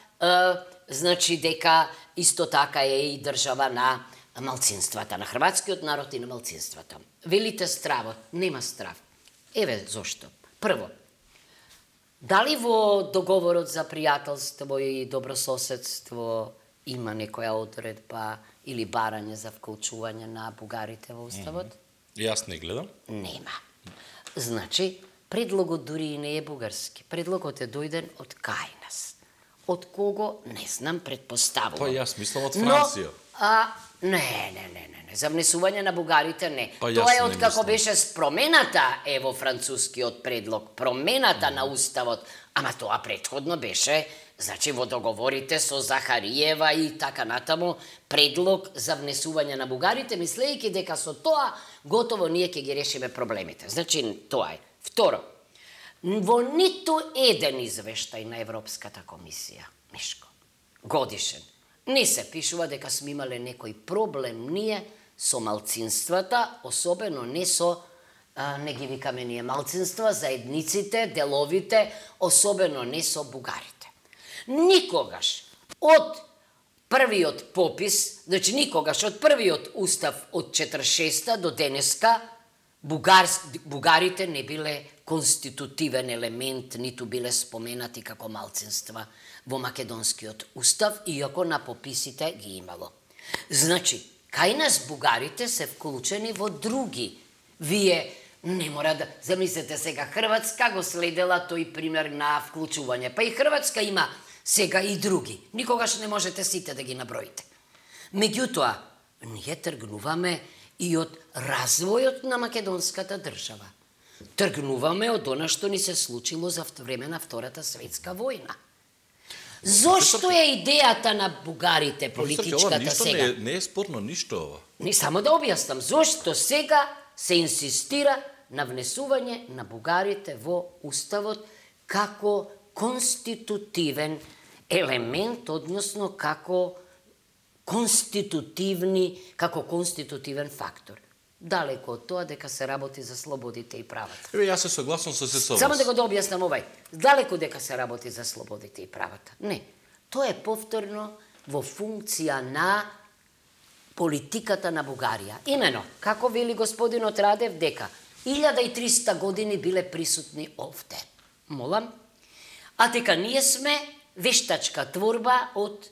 [SPEAKER 2] значи дека исто така е и држава на малцинствата, на хрватскиот народ и на малцинствата. Велите стравот, нема страв. Еве зошто. Прво, дали во договорот за пријателство и добрососедство има некоја одредба или барање за вклучување на бугарите во уставот?
[SPEAKER 1] Јас не гледам.
[SPEAKER 2] Нема. Значи, предлогот дури и не е бугарски. Предлогот е дојден од кај нас. Од кого? Не знам, предпоставувам.
[SPEAKER 1] Па јас мислам од Франција.
[SPEAKER 2] Не. За внесување на бугарите не. Тоа е од како беше промената во францускиот предлог, промената на уставот, ама тоа претходно беше, значи во договорите со Захариева и така натаму, предлог за внесување на бугарите, мислејќи дека со тоа готово ние ќе ги решиме проблемите. Значи тоа е. Второ, во ниту еден извештај на Европската комисија, Мишко, годишен, не се пишува дека сме имале некој проблем ние со малцинствата, особено не со, не ги викаме ние малцинства, заедниците, деловите, особено не со бугарите. Никогаш од првиот попис, значи никогаш од првиот устав од 46-та до денеска, бугарите не биле конститутивен елемент, ниту биле споменати како малцинства во македонскиот устав, иако на пописите ги имало. Значи, кај нас бугарите се вклучени во други. Вие не мора да... Замислете сега, Хрватска го следела тој пример на вклучување. Па и Хрватска има сега и други. Никогаш не можете сите да ги наброите. Меѓутоа, ние тргнуваме и од развојот на македонската држава. Тргнуваме од она што ни се случило за време на Втората светска војна. Зошто е идејата на бугарите, политичката сега?
[SPEAKER 1] Не е спорно ништо ова.
[SPEAKER 2] Не, само да објаснам. Зошто сега се инсистира на внесување на бугарите во уставот како конститутивен елемент, односно како конститутивен фактор. Далеко од тоа дека се работи за слободите и правата.
[SPEAKER 1] Јас се согласам со се со вас.
[SPEAKER 2] Само да го објаснам овај. Далеко дека се работи за слободите и правата. Не. Тоа е повторно во функција на политиката на Бугарија. Имено, како вели господинот Радев, дека 1300 години биле присутни овде. Молам. А дека ние сме вештачка творба од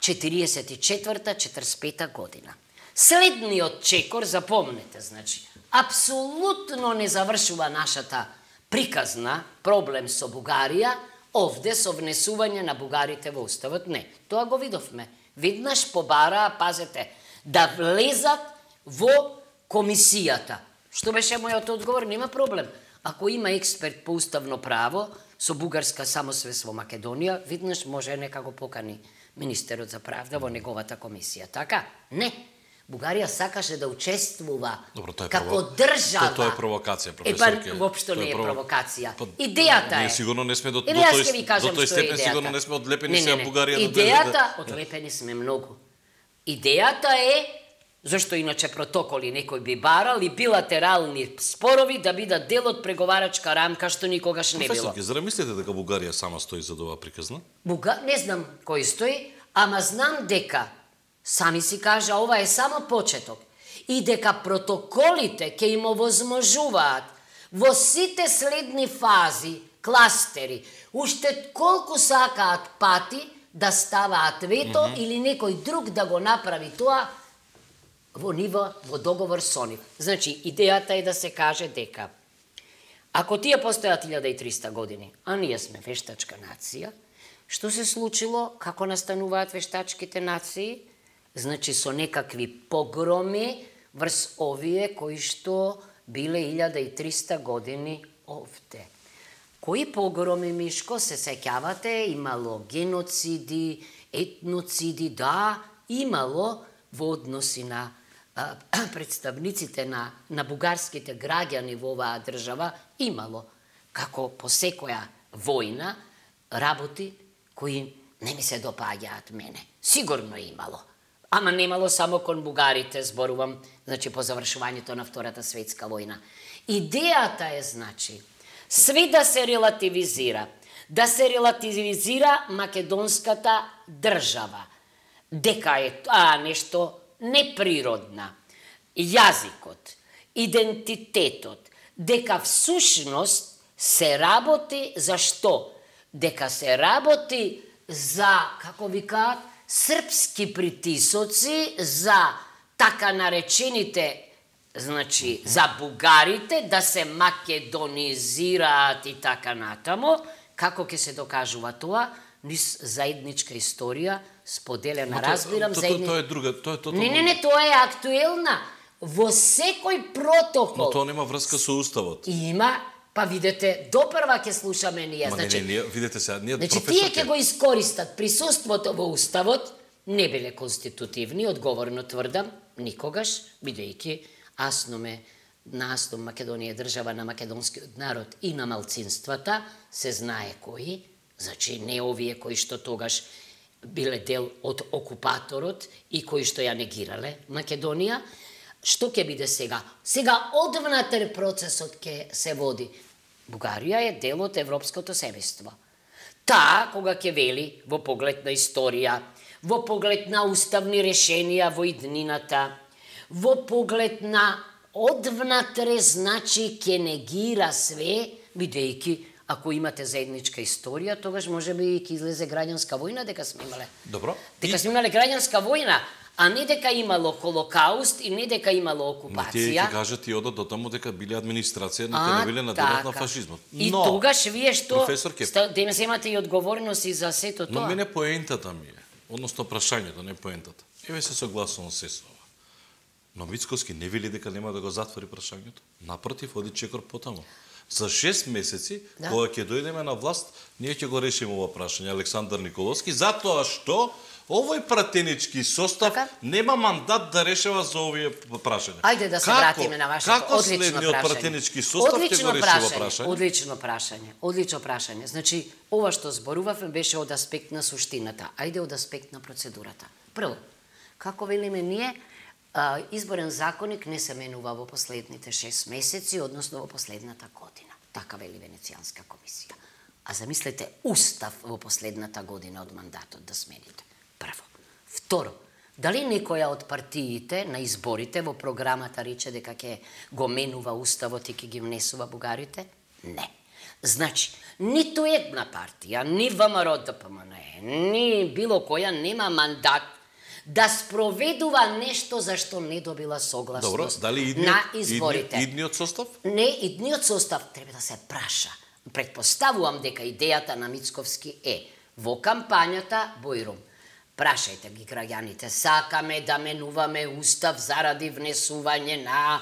[SPEAKER 2] 44-45 година. Следниот чекор, запомнете, значи, апсолутно не завршува нашата приказна проблем со Бугарија, овде со внесување на бугарите во уставот. Не, тоа го видовме. Веднаш побараа, пазете, да влезат во комисијата. Што беше мојот одговор? Нема проблем. Ако има експерт по уставно право, со бугарска самосвест во Македонија, веднаш може нека го покани министерот за правда во неговата комисија. Така? Не. Бугарија сакаше да учествува како држава.
[SPEAKER 1] Тоа е провокација, професорке.
[SPEAKER 2] Воопшто не е провокација. Идејата е.
[SPEAKER 1] Ние сигурно не сме до тој степен, сигурно не сме одлепени сега Бугарија.
[SPEAKER 2] Идејата, одлепени сме многу. Идејата е, зашто иначе протоколи некој би барал и билатерални спорови да бидат дел од преговарачка рамка, што никогаш не било.
[SPEAKER 1] Професорке, зар мислите дека Бугарија сама стои за оваа приказна?
[SPEAKER 2] Не знам кој стои, ама знам дека Сами си кажа, ова е само почеток. И дека протоколите ќе им овозможуваат во сите следни фази, кластери, уште колку сакаат пати да ставаат вето или некој друг да го направи тоа во ниво, во договор со нив. Значи, идејата е да се каже дека ако тие постојат 1300 години, а ние сме вештачка нација, што се случило, како настануваат вештачките нации? Значи, со некакви погроми врз овие кои што биле 1300 години овде. Кои погроми, Мишко, се сеќавате? Имало геноциди, етноциди, да, имало во односи на представниците на бугарските граѓани во оваа држава, имало, како по секоја војна, работи кои не ми се допаѓаат мене. Сигурно имало. Ама немало само кон бугарите, зборувам, значи по завршувањето на Втората светска војна. Идејата е, значи, све да се релативизира македонската држава, дека е нешто неприродна, јазикот, идентитетот, дека всушност се работи за што? Дека се работи за, како викаат, српски притисоци, за така наречените, значи, за бугарите да се македонизираат и така натаму. Како ќе се докажува тоа? Низ заедничка историја, споделена, разбирам, заедничка...
[SPEAKER 1] Тоа е друга, тоа е тотално...
[SPEAKER 2] Не, тоа е актуелна. Во секој протокол...
[SPEAKER 1] Но тоа нема врска со уставот.
[SPEAKER 2] Има, па видете, допрва ќе слушаме ние.
[SPEAKER 1] Значи, видете сега, ние
[SPEAKER 2] професор... Тие ќе го искористат присуството во уставот, не биле конститутивни, одговорно тврдам, никогаш, бидејќи Македонија е држава на македонскиот народ и на малцинствата, се знае кои, значи не овие кои што тогаш биле дел од окупаторот и кои што ја негирале Македонија. Што ќе биде сега? Сега одвнатре процесот ќе се води. Бугарија е дел од европското семејство. Таа, кога ќе вели во поглед на историја, во поглед на уставни решенија во иднината, во поглед на одвнатре, значи ќе негира све, бидејќи ако имате заедничка историја, тогаш може би ќе излезе граѓанска војна дека сме имале.
[SPEAKER 1] Добро.
[SPEAKER 2] Дека сме имале граѓанска војна, а не дека имало Холокауст и не дека имало окупација.
[SPEAKER 1] Тие ќе кажат и одат до таму дека биле администрација, дека не биле на денот на фашизмот.
[SPEAKER 2] И тогаш вие што
[SPEAKER 1] Кеп...
[SPEAKER 2] земате и одговорност и за сето тоа.
[SPEAKER 1] Но мене поентата ми е, односно прашањето, не поентата. Еве се согласувам се со ова. Но Мицкоски не вели дека нема да го затвори прашањето. Напротив, оди чекор потаму. За 6 месеци, кога ќе дојдеме на власт, ние ќе го решиме ова прашање, Александар Николовски, затоа што овој пратенички состав нема мандат да решава за овие прашања.
[SPEAKER 2] Ајде да се вратиме на вашето одлично прашање. Како
[SPEAKER 1] следниот пратенички состав ќе го реши прашање?
[SPEAKER 2] Одлично прашање. Значи, ова што зборувавме беше од аспект на суштината. Ајде од аспект на процедурата. Прво, како велиме ние, изборен законник не се менува во последните 6 месеци, односно во последната година. Така вели Венецијанска комисија. А замислете устав во последната година од мандатот да смените. Прво. Второ, дали некоја од партиите на изборите во програмата рече дека ќе го менува уставот и ќе ги внесува бугарите? Не. Значи, ниту една партија, ни ВМРО ДПМН, ни било која нема мандат да спроведува нешто за што не добила согласност на изборите.
[SPEAKER 1] Идниот состав?
[SPEAKER 2] Не, идниот состав треба да се праша. Предпоставувам дека идејата на Мицковски е во кампањата Бојрум. Прашајте ги граѓаните, сакаме да менуваме устав заради внесување на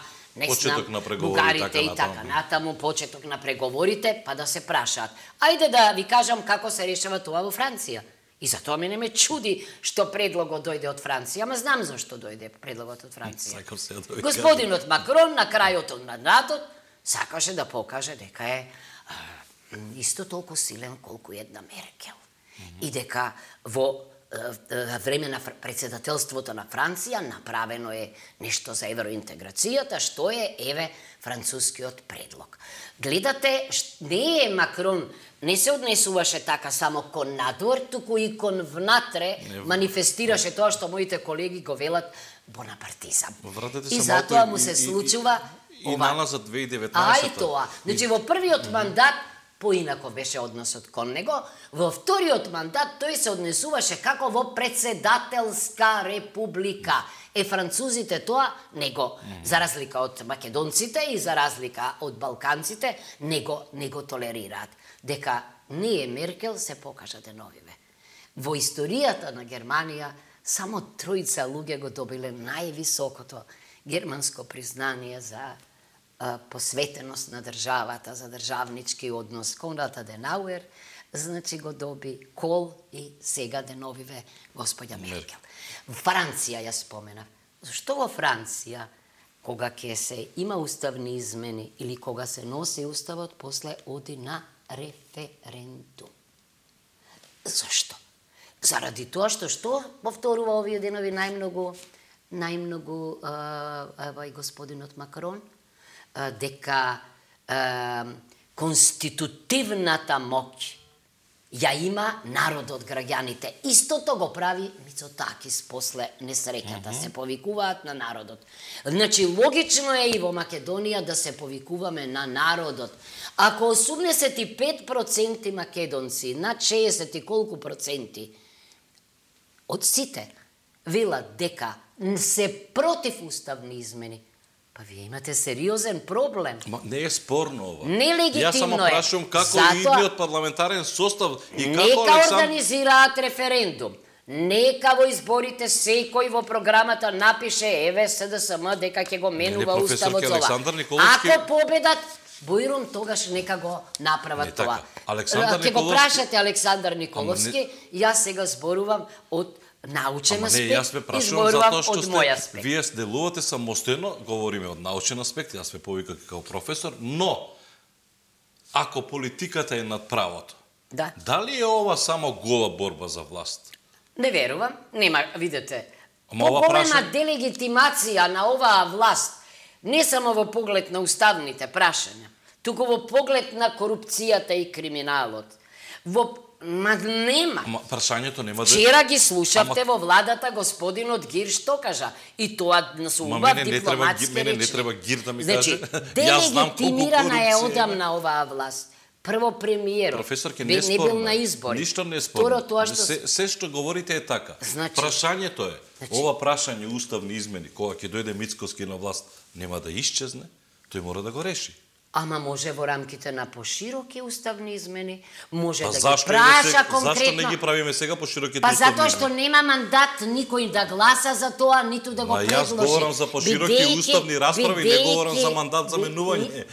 [SPEAKER 2] бугарите и така натаму, почеток на преговорите, па да се прашаат. Ајде да ви кажам како се решава тоа во Франција. И затоа мене ме чуди што предлогот дојде од Франција, ама знам зашто дојде предлогот од Франција. Господинот Макрон на крајот од мандатот сакаше да покаже дека е исто толку силен колку една Меркел. И дека во
[SPEAKER 3] време на председателството на Франција направено е нешто за евроинтеграцијата, што е, еве, францускиот предлог. Гледате, не е Макрон, не се однесуваше така само кон надвор, туку и кон внатре манифестираше тоа што моите колеги го велат бонапартизам. И затоа му се случува
[SPEAKER 1] и налаза 2019.
[SPEAKER 3] Ај тоа. Значи во првиот мандат поинако беше односот кон него, во вториот мандат тој се однесуваше како во председателска република. Французите тоа него, за разлика од македонците и за разлика од балканците, него толерираат. Дека ние Меркел се покажа деновиве. Во историјата на Германија само тројца луѓе го добиле највисокото германско признание за посветеност на државата, за државнички однос. Конрад Аденауер, значи го доби, Кол и сега деновиве господја Меркел. Франција ја спомена. Зашто во Франција, кога ќе се има уставни измени или кога се носи уставот, после оди на референдум? Зашто? Заради тоа што повторува овие денови најмногу господинот Макрон, дека конститутивната моќ ја има народот, граѓаните. Истото го прави Мицотакис после несреќата. Се повикуваат на народот. Значи, логично е и во Македонија да се повикуваме на народот. Ако 85% македонци, над 60 и колку проценти од сите велат дека се против уставни измени, па вие имате сериозен проблем.
[SPEAKER 1] Не е спорно ова.
[SPEAKER 3] Нелегитимно е.
[SPEAKER 1] Јас само прашувам како идниот парламентарен состав и како
[SPEAKER 3] Нека организираат референдум. Нека во изборите секој во програмата напише еве СДСМ дека ќе го менува уставот за ова. Ако победат, Бојрон тогаш нека го направат тоа. Ќе го прашате Александар Николовски, јас сега зборувам од научен аспект,
[SPEAKER 1] јас ме прашувам затоа што вие делувате самостојно, говориме од научен аспект, јас ме повикав како професор, но ако политиката е над правото, дали е ова само гола борба за власт?
[SPEAKER 3] Не верувам, нема, видете. Поголема делегитимација на оваа власт, не само во поглед на уставните прашања, туку во поглед на корупцијата и криминалот. Нема.
[SPEAKER 1] Прашањето нема да...
[SPEAKER 3] Вчера ги слушавте во владата господинот Гир што кажа. И тоа со убав дипломатски речи.
[SPEAKER 1] Мене не треба Гир да ми каже.
[SPEAKER 3] Делегитимирана е одамна оваа власт. Прво премиерот.
[SPEAKER 1] Професорке,
[SPEAKER 3] не бил на избори.
[SPEAKER 1] Ништо не спорно. Се што говорите е така. Прашањето е, ова прашање уставни измени, кога ќе дојде Мицкоски на власт, нема да исчезне, тој мора да го реши.
[SPEAKER 3] Ама може во рамките на пошироки уставни измени, може да ги праша конкретно.
[SPEAKER 1] Зашто не ги правиме сега пошироките
[SPEAKER 3] уставни измени? Па затоа што нема мандат никој да гласа за тоа, ниту да го предложи.
[SPEAKER 1] Јас говорам за пошироки уставни расправи, не говорам за мандат за менување.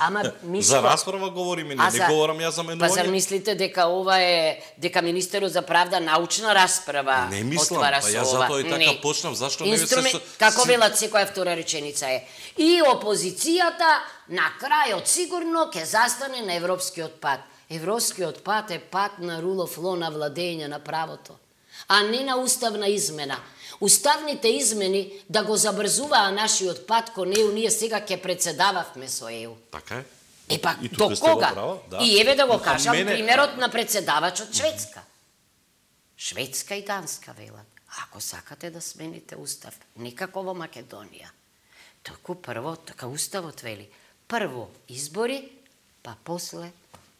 [SPEAKER 1] За расправа говориме, не говорам јас за менување.
[SPEAKER 3] Па зар мислите дека ова е, дека Министерот за правда научна расправа отвара со ова?
[SPEAKER 1] Не мислам, па јас затоа и така почнав, зашто не се...
[SPEAKER 3] Како велат секоја втора реченица е. И опозицијата на крајот сигурно ќе застане на европскиот пат. Европскиот пат е пат на rule of law, на владење на правото, а не на уставна измена. Уставните измени да го забрзуваа нашиот пат кон ЕУ, ние сега ќе председававме со ЕУ.
[SPEAKER 1] Така е.
[SPEAKER 3] Епа, до кога? И еве да го кажам примерот на председавачот Шведска. Шведска и Данска велат. Ако сакате да смените устав, никако во Македонија. Току прво, така уставот вели, прво избори, па после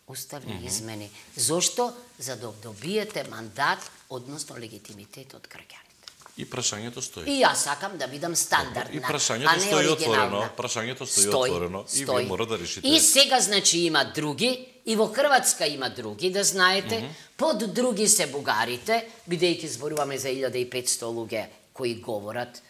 [SPEAKER 3] уставни измени. Зошто? За да добиете мандат, односно легитимитет од граѓаните.
[SPEAKER 1] И прашањето стои.
[SPEAKER 3] И јас сакам да бидам стандардна,
[SPEAKER 1] и прашањето стои отворено. Прашањето стои отворено и вие мора да решите.
[SPEAKER 3] И сега, значи, има други, и во Хрватска има други, да знаете, под други се бугарите, бидејќи зборуваме за 1500 луѓе кои говорат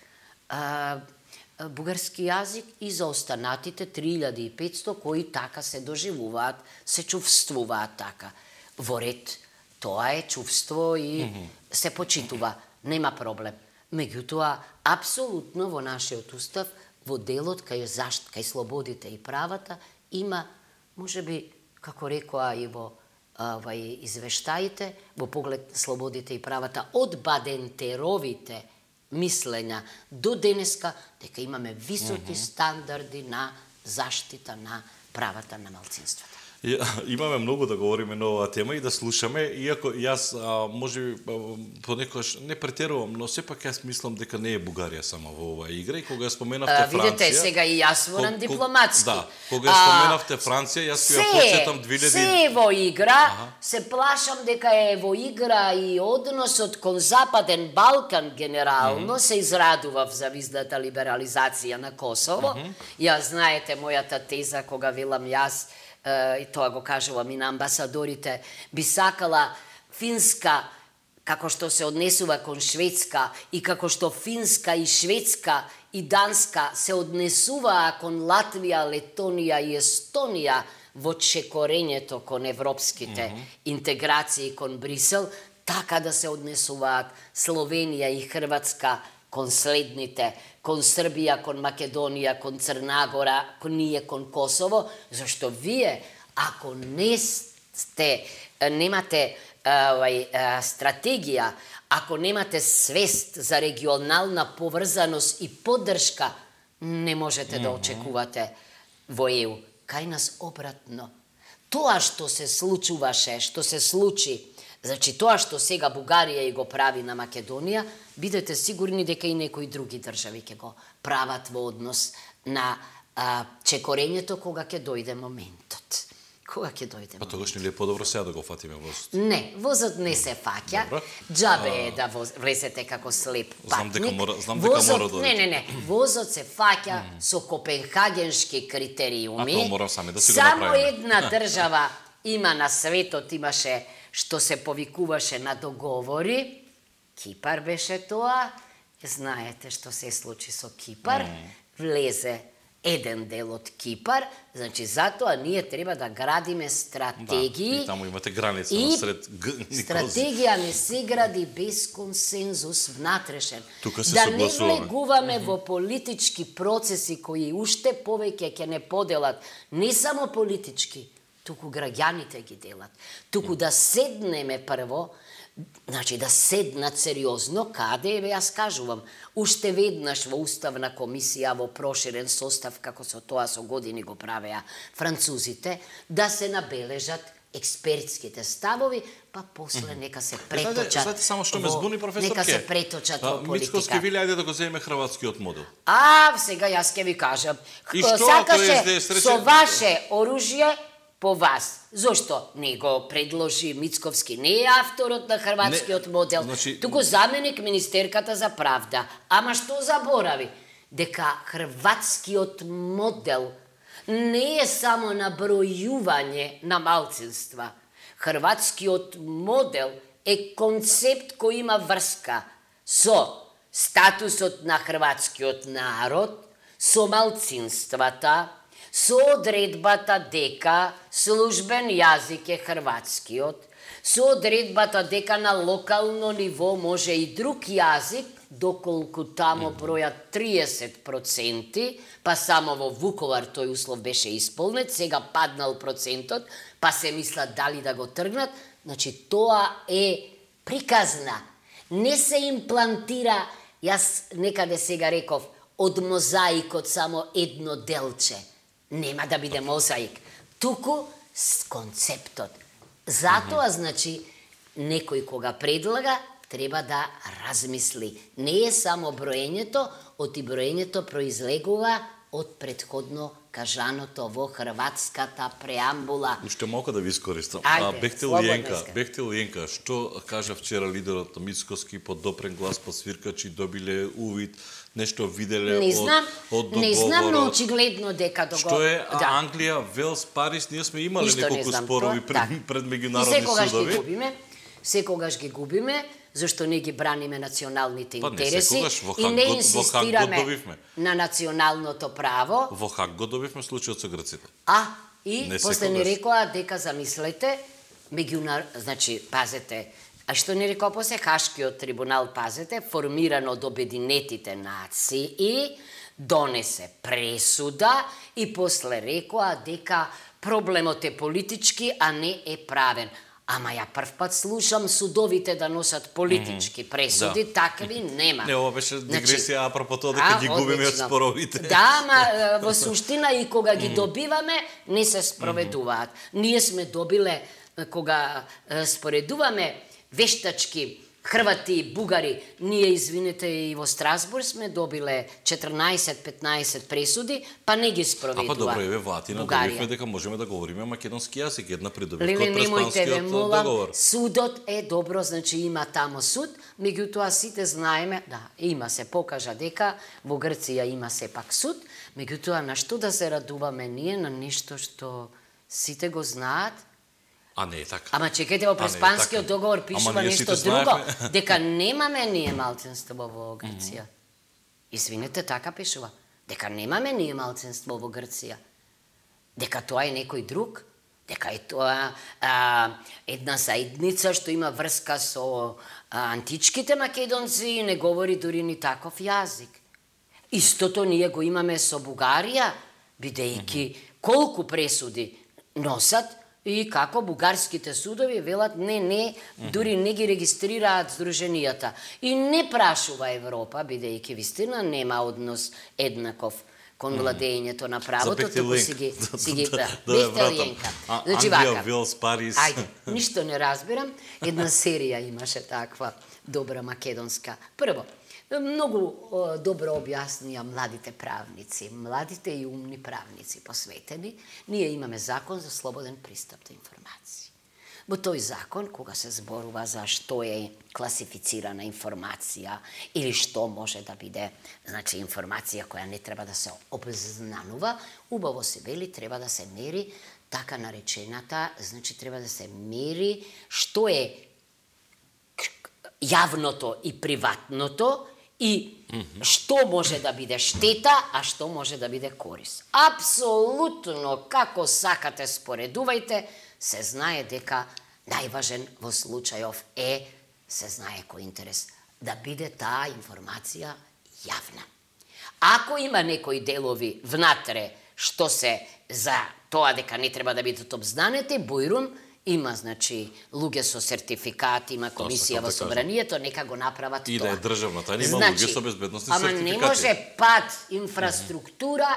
[SPEAKER 3] бугарски јазик, и за останатите 3500 кои така се доживуваат, се чувствуваат така. Во ред, тоа е чувство и се почитува, нема проблем. Меѓутоа, апсолутно во нашиот устав, во делот кај слободите и правата, има, можеби, како рекоа и во извештаите во поглед слободите и правата од Бадентеровите мислења до денеска, дека имаме високи стандарди на заштита на правата на малцинствата.
[SPEAKER 1] Имаме многу да говориме на оваа тема и да слушаме, иако јас можеби понекогаш не претерувам, но сепак јас мислам дека не е Бугарија само во оваа игра, и кога споменавте Франција...
[SPEAKER 3] Видете, сега и јас морам дипломатски.
[SPEAKER 1] Да, кога споменавте Франција, јас ќе ја подсетам 2000...
[SPEAKER 3] Се во игра, се плашам дека е во игра и односот кон Западен Балкан генерално, се израдував за виздата либерализација на Косово. Јас знаете мојата теза кога велам јас, и тоа го кажувам и на амбасадорите, би сакала Финска, како што се однесува кон Шведска, и како што Финска и Шведска и Данска се однесуваа кон Латвија, Летонија и Естонија во чекорењето кон европските интеграции кон Брисел, така да се однесуваат Словенија и Хрватска кон следните, кон Србија, кон Македонија, кон Црнагора, кон ние, кон Косово, зашто вие, ако немате стратегија, ако немате свест за регионална поврзаност и поддршка, не можете да очекувате во ЕУ. Кај нас обратно. Тоа што се случуваше, што се случи, значи тоа што сега Бугарија и го прави на Македонија, бидете сигурни дека и некои други држави ќе го прават во однос на чекорењето кога ќе дојде моментот. Кога ќе дојде моментот?
[SPEAKER 1] Па тогаш нели е подобро сега да го фатиме возот?
[SPEAKER 3] Не, возот не се фаќа. Джабе е да влезете како слеп патник.
[SPEAKER 1] Знам дека мора да...
[SPEAKER 3] Не. Возот се фаќа со копенхагеншки критериуми.
[SPEAKER 1] А тоа мора сами да си го направиме.
[SPEAKER 3] Само една држава има на светот, имаше што се повикуваше на договори. Кипар беше тоа. Знаете што се случи со Кипар. Влезе еден дел од Кипар, значи затоа ние треба да градиме стратегии.
[SPEAKER 1] И таму имате граница насред
[SPEAKER 3] стратегија не се гради без консензус внатрешен.
[SPEAKER 1] Да
[SPEAKER 3] не влегуваме во политички процеси кои уште повеќе ќе не поделат, не само политички, туку граѓаните ги делат. Туку да седнеме прво, значи да седнат сериозно, каде, јас кажувам, уште веднаш во Уставна комисија, во проширен состав, како со тоа со години го правеа французите, да се набележат експертските ставови, па после нека се преточат.
[SPEAKER 1] Знаете само што ме збуни, професор Ке?
[SPEAKER 3] Нека се преточат во политика.
[SPEAKER 1] Мицковски вели, ајде да го земеме хрватскиот модел.
[SPEAKER 3] Сега јас ќе ви кажам.
[SPEAKER 1] И што
[SPEAKER 3] сакаше со ваше оружје по вас. Зошто не го предложи Мицковски? Не е авторот на хрватскиот модел, туку заменик министерката за правда. Ама што заборави? Дека хрватскиот модел не е само набројување на малцинства. Хрватскиот модел е концепт кој има врска со статусот на хрватскиот народ, со малцинствата, со одредбата дека службен јазик е хрватскиот, со одредбата дека на локално ниво може и друг јазик, доколку тамо бројат 30%, па само во Вуковар тој услов беше исполнет, сега паднал процентот, па се мислат дали да го тргнат, значи тоа е приказна. Не се имплантира, јас некаде сега реков, од мозаикот само едно делче. Нема да биде мозаик, туку с концептот. Затоа, значи, некој кога предлага, треба да размисли. Не е само броењето, оти броењето произлегува од предходно кажаното во хрватската преамбула.
[SPEAKER 1] Уште малку да ви искористам. Бехтел Јенка, што кажа вчера лидерот Мицковски, под допрен глас посвиркачи добиле увид, нешто виделе од договора.
[SPEAKER 3] Не знам, но очигледно дека
[SPEAKER 1] Што е Англија, Велс, Париз, ние сме имали неколку спорови пред меѓународни судови.
[SPEAKER 3] Секогаш ги губиме, зашто не ги браниме националните интереси и не инсистираме на националното право.
[SPEAKER 1] Во Хаг го добивме случајот со грците.
[SPEAKER 3] И после не рекоа дека замислете, значи, пазете, а што не рекоа после Хашкиот трибунал, пазете, формиран од Обединетите нации, донесе пресуда и после рекоа дека проблемот е политички, а не е правен. Ама ја прв пат слушам судовите да носат политички пресуди, такви нема.
[SPEAKER 1] Не, ова беше дигресија апропо тоа дека ги губиме од споровите.
[SPEAKER 3] Да, ама во суштина и кога ги добиваме, не се спроведуваат. Ние сме добиле, кога споредуваме вештачки Хрвати и бугари, ние, извинете, и во Страсбург сме добиле 14-15 пресуди, па не ги спроведува.
[SPEAKER 1] А па добро, еве Ватина, добивме дека можеме да говориме македонски јазик, една придобивка од
[SPEAKER 3] преспанскиот договор. Судот е добро, значи има тамо суд, меѓутоа сите знаеме, да, има се покажа дека во Грција има сепак суд, меѓутоа на што да се радуваме ние, на нешто што сите го знаат.
[SPEAKER 1] А не е така.
[SPEAKER 3] Ама чекайте, во преспанскиот договор пишува нешто друго, дека немаме ние малцинство во Грција. Извинете, така пишува. Дека немаме ние малцинство во Грција. Дека тоа е некој друг, дека е тоа една заедница што има врска со античките македонци и не говори дури ни таков јазик. Истото ние го имаме со Бугарија, бидејќи колку пресуди носат, и како бугарските судови велат не, дури не ги регистрираат здруженијата. И не прашува Европа, бидејќи вистина нема однос еднаков кон владењето на правото, туку си ги бехте Ленка. Значи вака. Ајде, ништо не разбирам. Една серија имаше таква добра македонска. Прво, многу добро објаснија младите правници, младите и умни правници посветени. Ние имаме закон за слободен пристап до информации. Во тој закон, кога се зборува за што е класифицирана информација или што може да биде, значи информација која не треба да се обзнанува, убаво се вели треба да се мери така наречената, значи треба да се мери што е јавното и приватното, и што може да биде штета, а што може да биде корис. Апсолутно, како сакате споредувајте, се знае дека најважен во случајов е, се знае кој интерес, да биде таа информација јавна. Ако има некои делови внатре што се за тоа дека не треба да бидат обзнанети, бујрум, има, значи, луѓе со сертификат, има комисија во собранието, нека го направат тоа.
[SPEAKER 1] И да е државна тајна, има луѓе со безбедносни сертификати.
[SPEAKER 3] Ама не може пат инфраструктура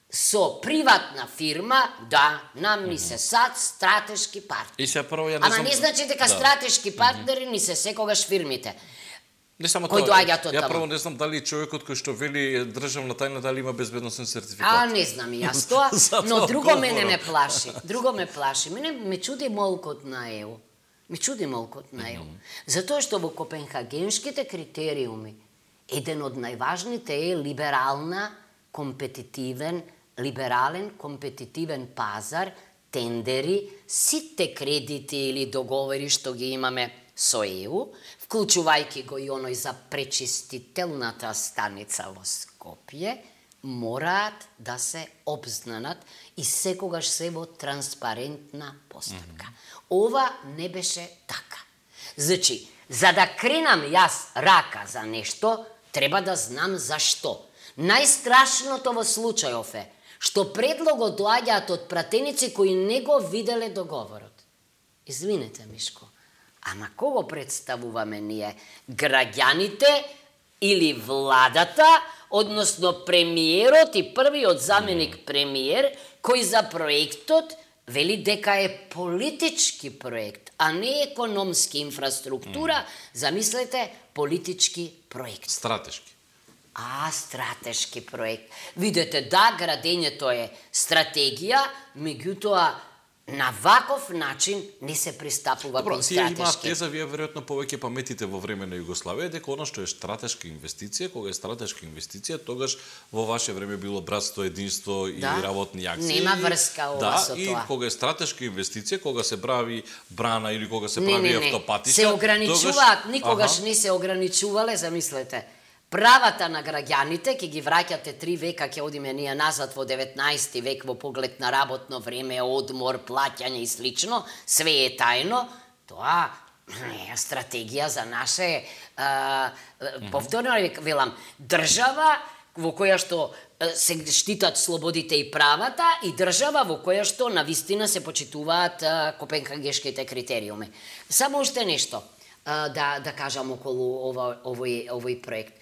[SPEAKER 3] со приватна фирма, да, нам ни се сад стратешки партнери. Ама не значи дека стратешки партнери ни се секогаш фирмите.
[SPEAKER 1] Не само тоа. Ја прво не знам дали човекот кој што вели државна тајна дали има безбедносен сертификат.
[SPEAKER 3] А не знам и јас тоа, но друго мене ме плаши. Друго ме плаши. Мене ме чуди молкот на ЕУ. Ме чуди молкот на ЕУ. Затоа што во копенхагенските критериуми еден од најважните е либерален компетитивен пазар, тендери, сите кредити или договори што ги имаме со ЕУ, вклучувајќи го и оној за пречистителната станица во Скопје, мораат да се обзнанат и секогаш се во транспарентна постапка. Ова не беше така. Значи, за да кренам јас рака за нешто, треба да знам зашто. Најстрашното во случајов е што предлогот доаѓаат од пратеници кои не го виделе договорот. Извинете, Мишко, ама кого представуваме ние? Граѓаните или владата, односно премиерот и првиот заменик премиер, кој за проектот вели дека е политички проект, а не економски инфраструктура, замислете, политички проект.
[SPEAKER 1] Стратешки.
[SPEAKER 3] Стратешки проект. Видете, да, градењето е стратегија, меѓутоа на ваков начин не се пристапува кон стратешки.
[SPEAKER 1] Добро, тие имаат теза, вие веројатно повеќе паметите во време на Југославија, дека она што е стратешка инвестиција, кога е стратешка инвестиција, тогаш во ваше време било братство, единство и работни акции.
[SPEAKER 3] Нема врска ова со тоа.
[SPEAKER 1] И кога е стратешка инвестиција, кога се прави брана или кога се прави автопатица,
[SPEAKER 3] се ограничуваат, никогаш не се ограничувале, замислете. Правата на граѓаните, ќе ги враќате 3 века, ќе одиме ние назад во 19 век во поглед на работно време, одмор, плаќање и слично, све е тајно, тоа е стратегија за наше, повторно велам, држава во која што се штитат слободите и правата, и држава во која што навистина се почитуваат копенхагешките критериуми. Само уште нешто да кажам околу овој проект.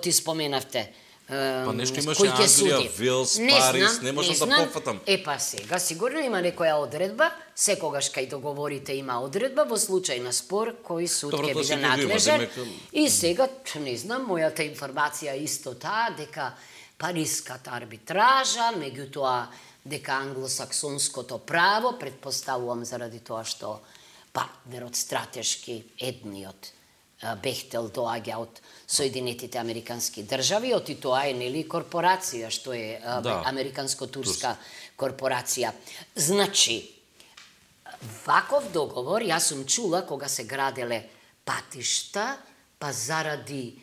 [SPEAKER 3] Ти споменавте
[SPEAKER 1] па нешто имаше Англија, Велс, Париз, не можам да пофатам.
[SPEAKER 3] Па сега, сигурно има некоја одредба, секогаш кај договорите има одредба, во случај на спор, кој суд ќе биде надлежен. И сега, не знам, мојата информација исто таа, дека Париската арбитража, меѓутоа дека англосаксонското право, предпоставувам заради тоа што партнерот стратешки, едниот, Бехтел доаѓа од Соединетите Американски држави, и тоа е нели корпорација, што е американско-турска корпорација. Значи, ваков договор, јас сум чула кога се граделе патишта, па заради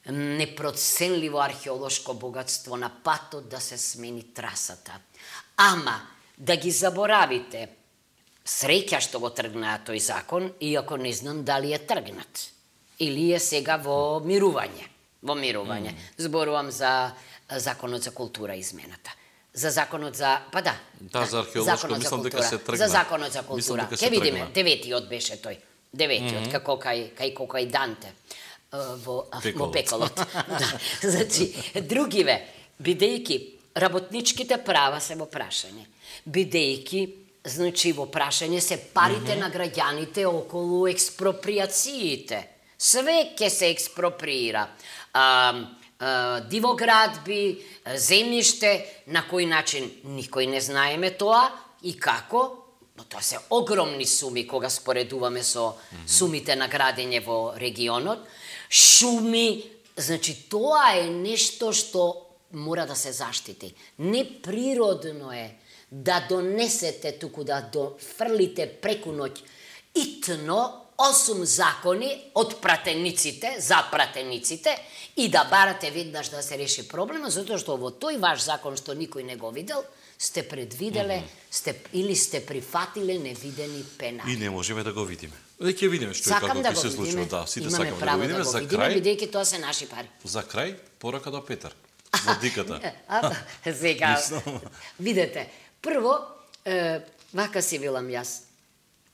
[SPEAKER 3] непроценливо археолошко богатство на патот да се смени трасата. Ама, да ги заборавите, среќа што го тргнаа тој закон, иако не знам дали е тргнат. Или е сега во мирување. Зборувам за законот за култура измената. За законот за...
[SPEAKER 1] за археолошко, мислам дека се тргна.
[SPEAKER 3] За законот за култура. Ке видиме, 9-тиот беше тој. 9-тиот, како кај Данте во пеколот. Значи, другиве, бидејќи работничките права се во прашање, бидејќи значи во прашање се парите на граѓаните околу експроприациите. Све ќе се експроприира. Дивоградби, земјиште, на кој начин никој не знаеме тоа и како. Но тоа се огромни суми кога споредуваме со сумите на градење во регионот. Шуми, значи тоа е нешто што мора да се заштити. Неприродно е да донесете туку да дофрлите преку ноќ итно 8 закони од пратениците, за пратениците, и да барате веднаш да се реши проблема, затоа што во тој ваш закон што никој не го видел, сте предвиделе, или сте прифатиле невидени пенали.
[SPEAKER 1] И не можеме да го видиме. Ќе видиме што и како ќе се случува. Да, сите сакаме да го видиме. За крај,
[SPEAKER 3] бидејќи тоа се наши пари.
[SPEAKER 1] За крај, порака до Петар. Владиката.
[SPEAKER 3] Сега, видете, прво, вака си велам јас,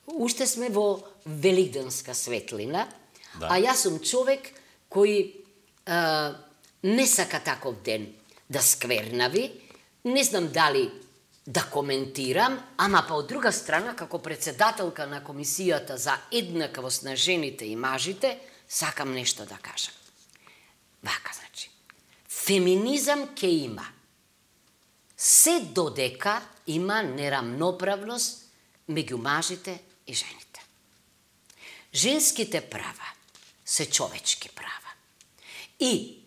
[SPEAKER 3] уште сме во великденска светлина, а јас сум човек кој не сака таков ден да сквернави, не знам дали да коментирам, ама па од друга страна, како председателка на Комисијата за еднаквост на жените и мажите, сакам нешто да кажам. Вака, значи, феминизам ке има, се додека има нерамноправност меѓу мажите и жените. Женските права се човечки права. И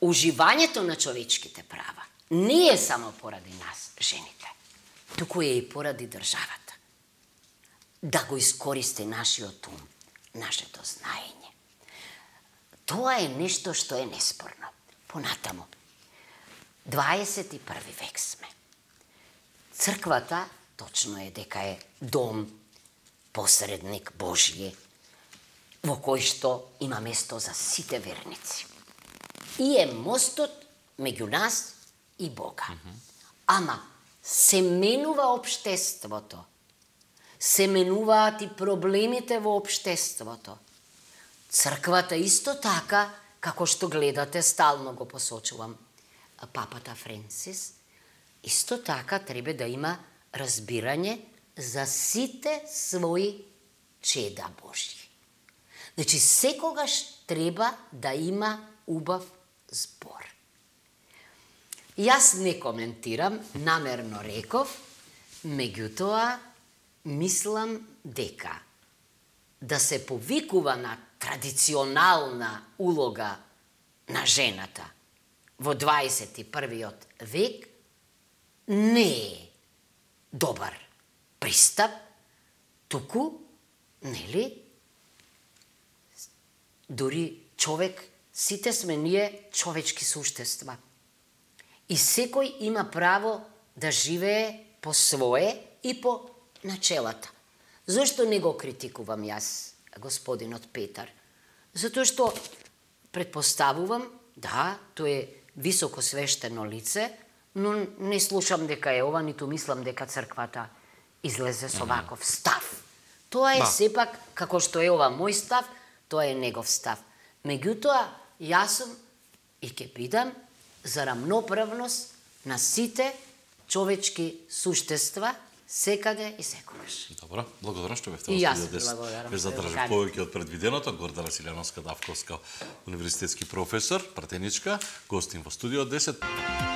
[SPEAKER 3] уживањето на човечките права не е само поради нас, жените, туку е и поради државата. Да го искористи нашиот ум, нашето знаење. Тоа е нешто што е неспорно. Понатаму, 21 век сме. Црквата, точно е дека е дом, посредник Божје, во кој што има место за сите верници. И е мостот меѓу нас и Бога. Ама се менува општеството. Се менуваат и проблемите во општеството. Црквата исто така, како што гледате, стално го посочувам, папата Френсис, исто така треба да има разбирање за сите своји чеда Божји. Значи, секогаш треба да има убав збор. Јас не коментирам, намерно реков, меѓутоа, мислам дека да се повикува на традиционална улога на жената во 21. век не е добар пристап, туку, нели, дури човек, сите сме ние човечки суштества. И секој има право да живее по свое и по начелата. Зошто не го критикувам јас, господинот Петар? Затоа што предпоставувам, да, тој е високо свештено лице, но не слушам дека е ова, ниту мислам дека црквата излезе со ваков став. Тоа е сепак, како што е ова мој став, тоа е негов став. Меѓутоа, јас сум и ќе бидам за рамноправност на сите човечки суштества, секаде и секогаш.
[SPEAKER 1] Добро, благодарам што бевте во студио 10. Ве задржав повеќе од предвиденото. Гордана Силјановска Давковска, универзитетски професор, пратеничка, гостин во студио 10.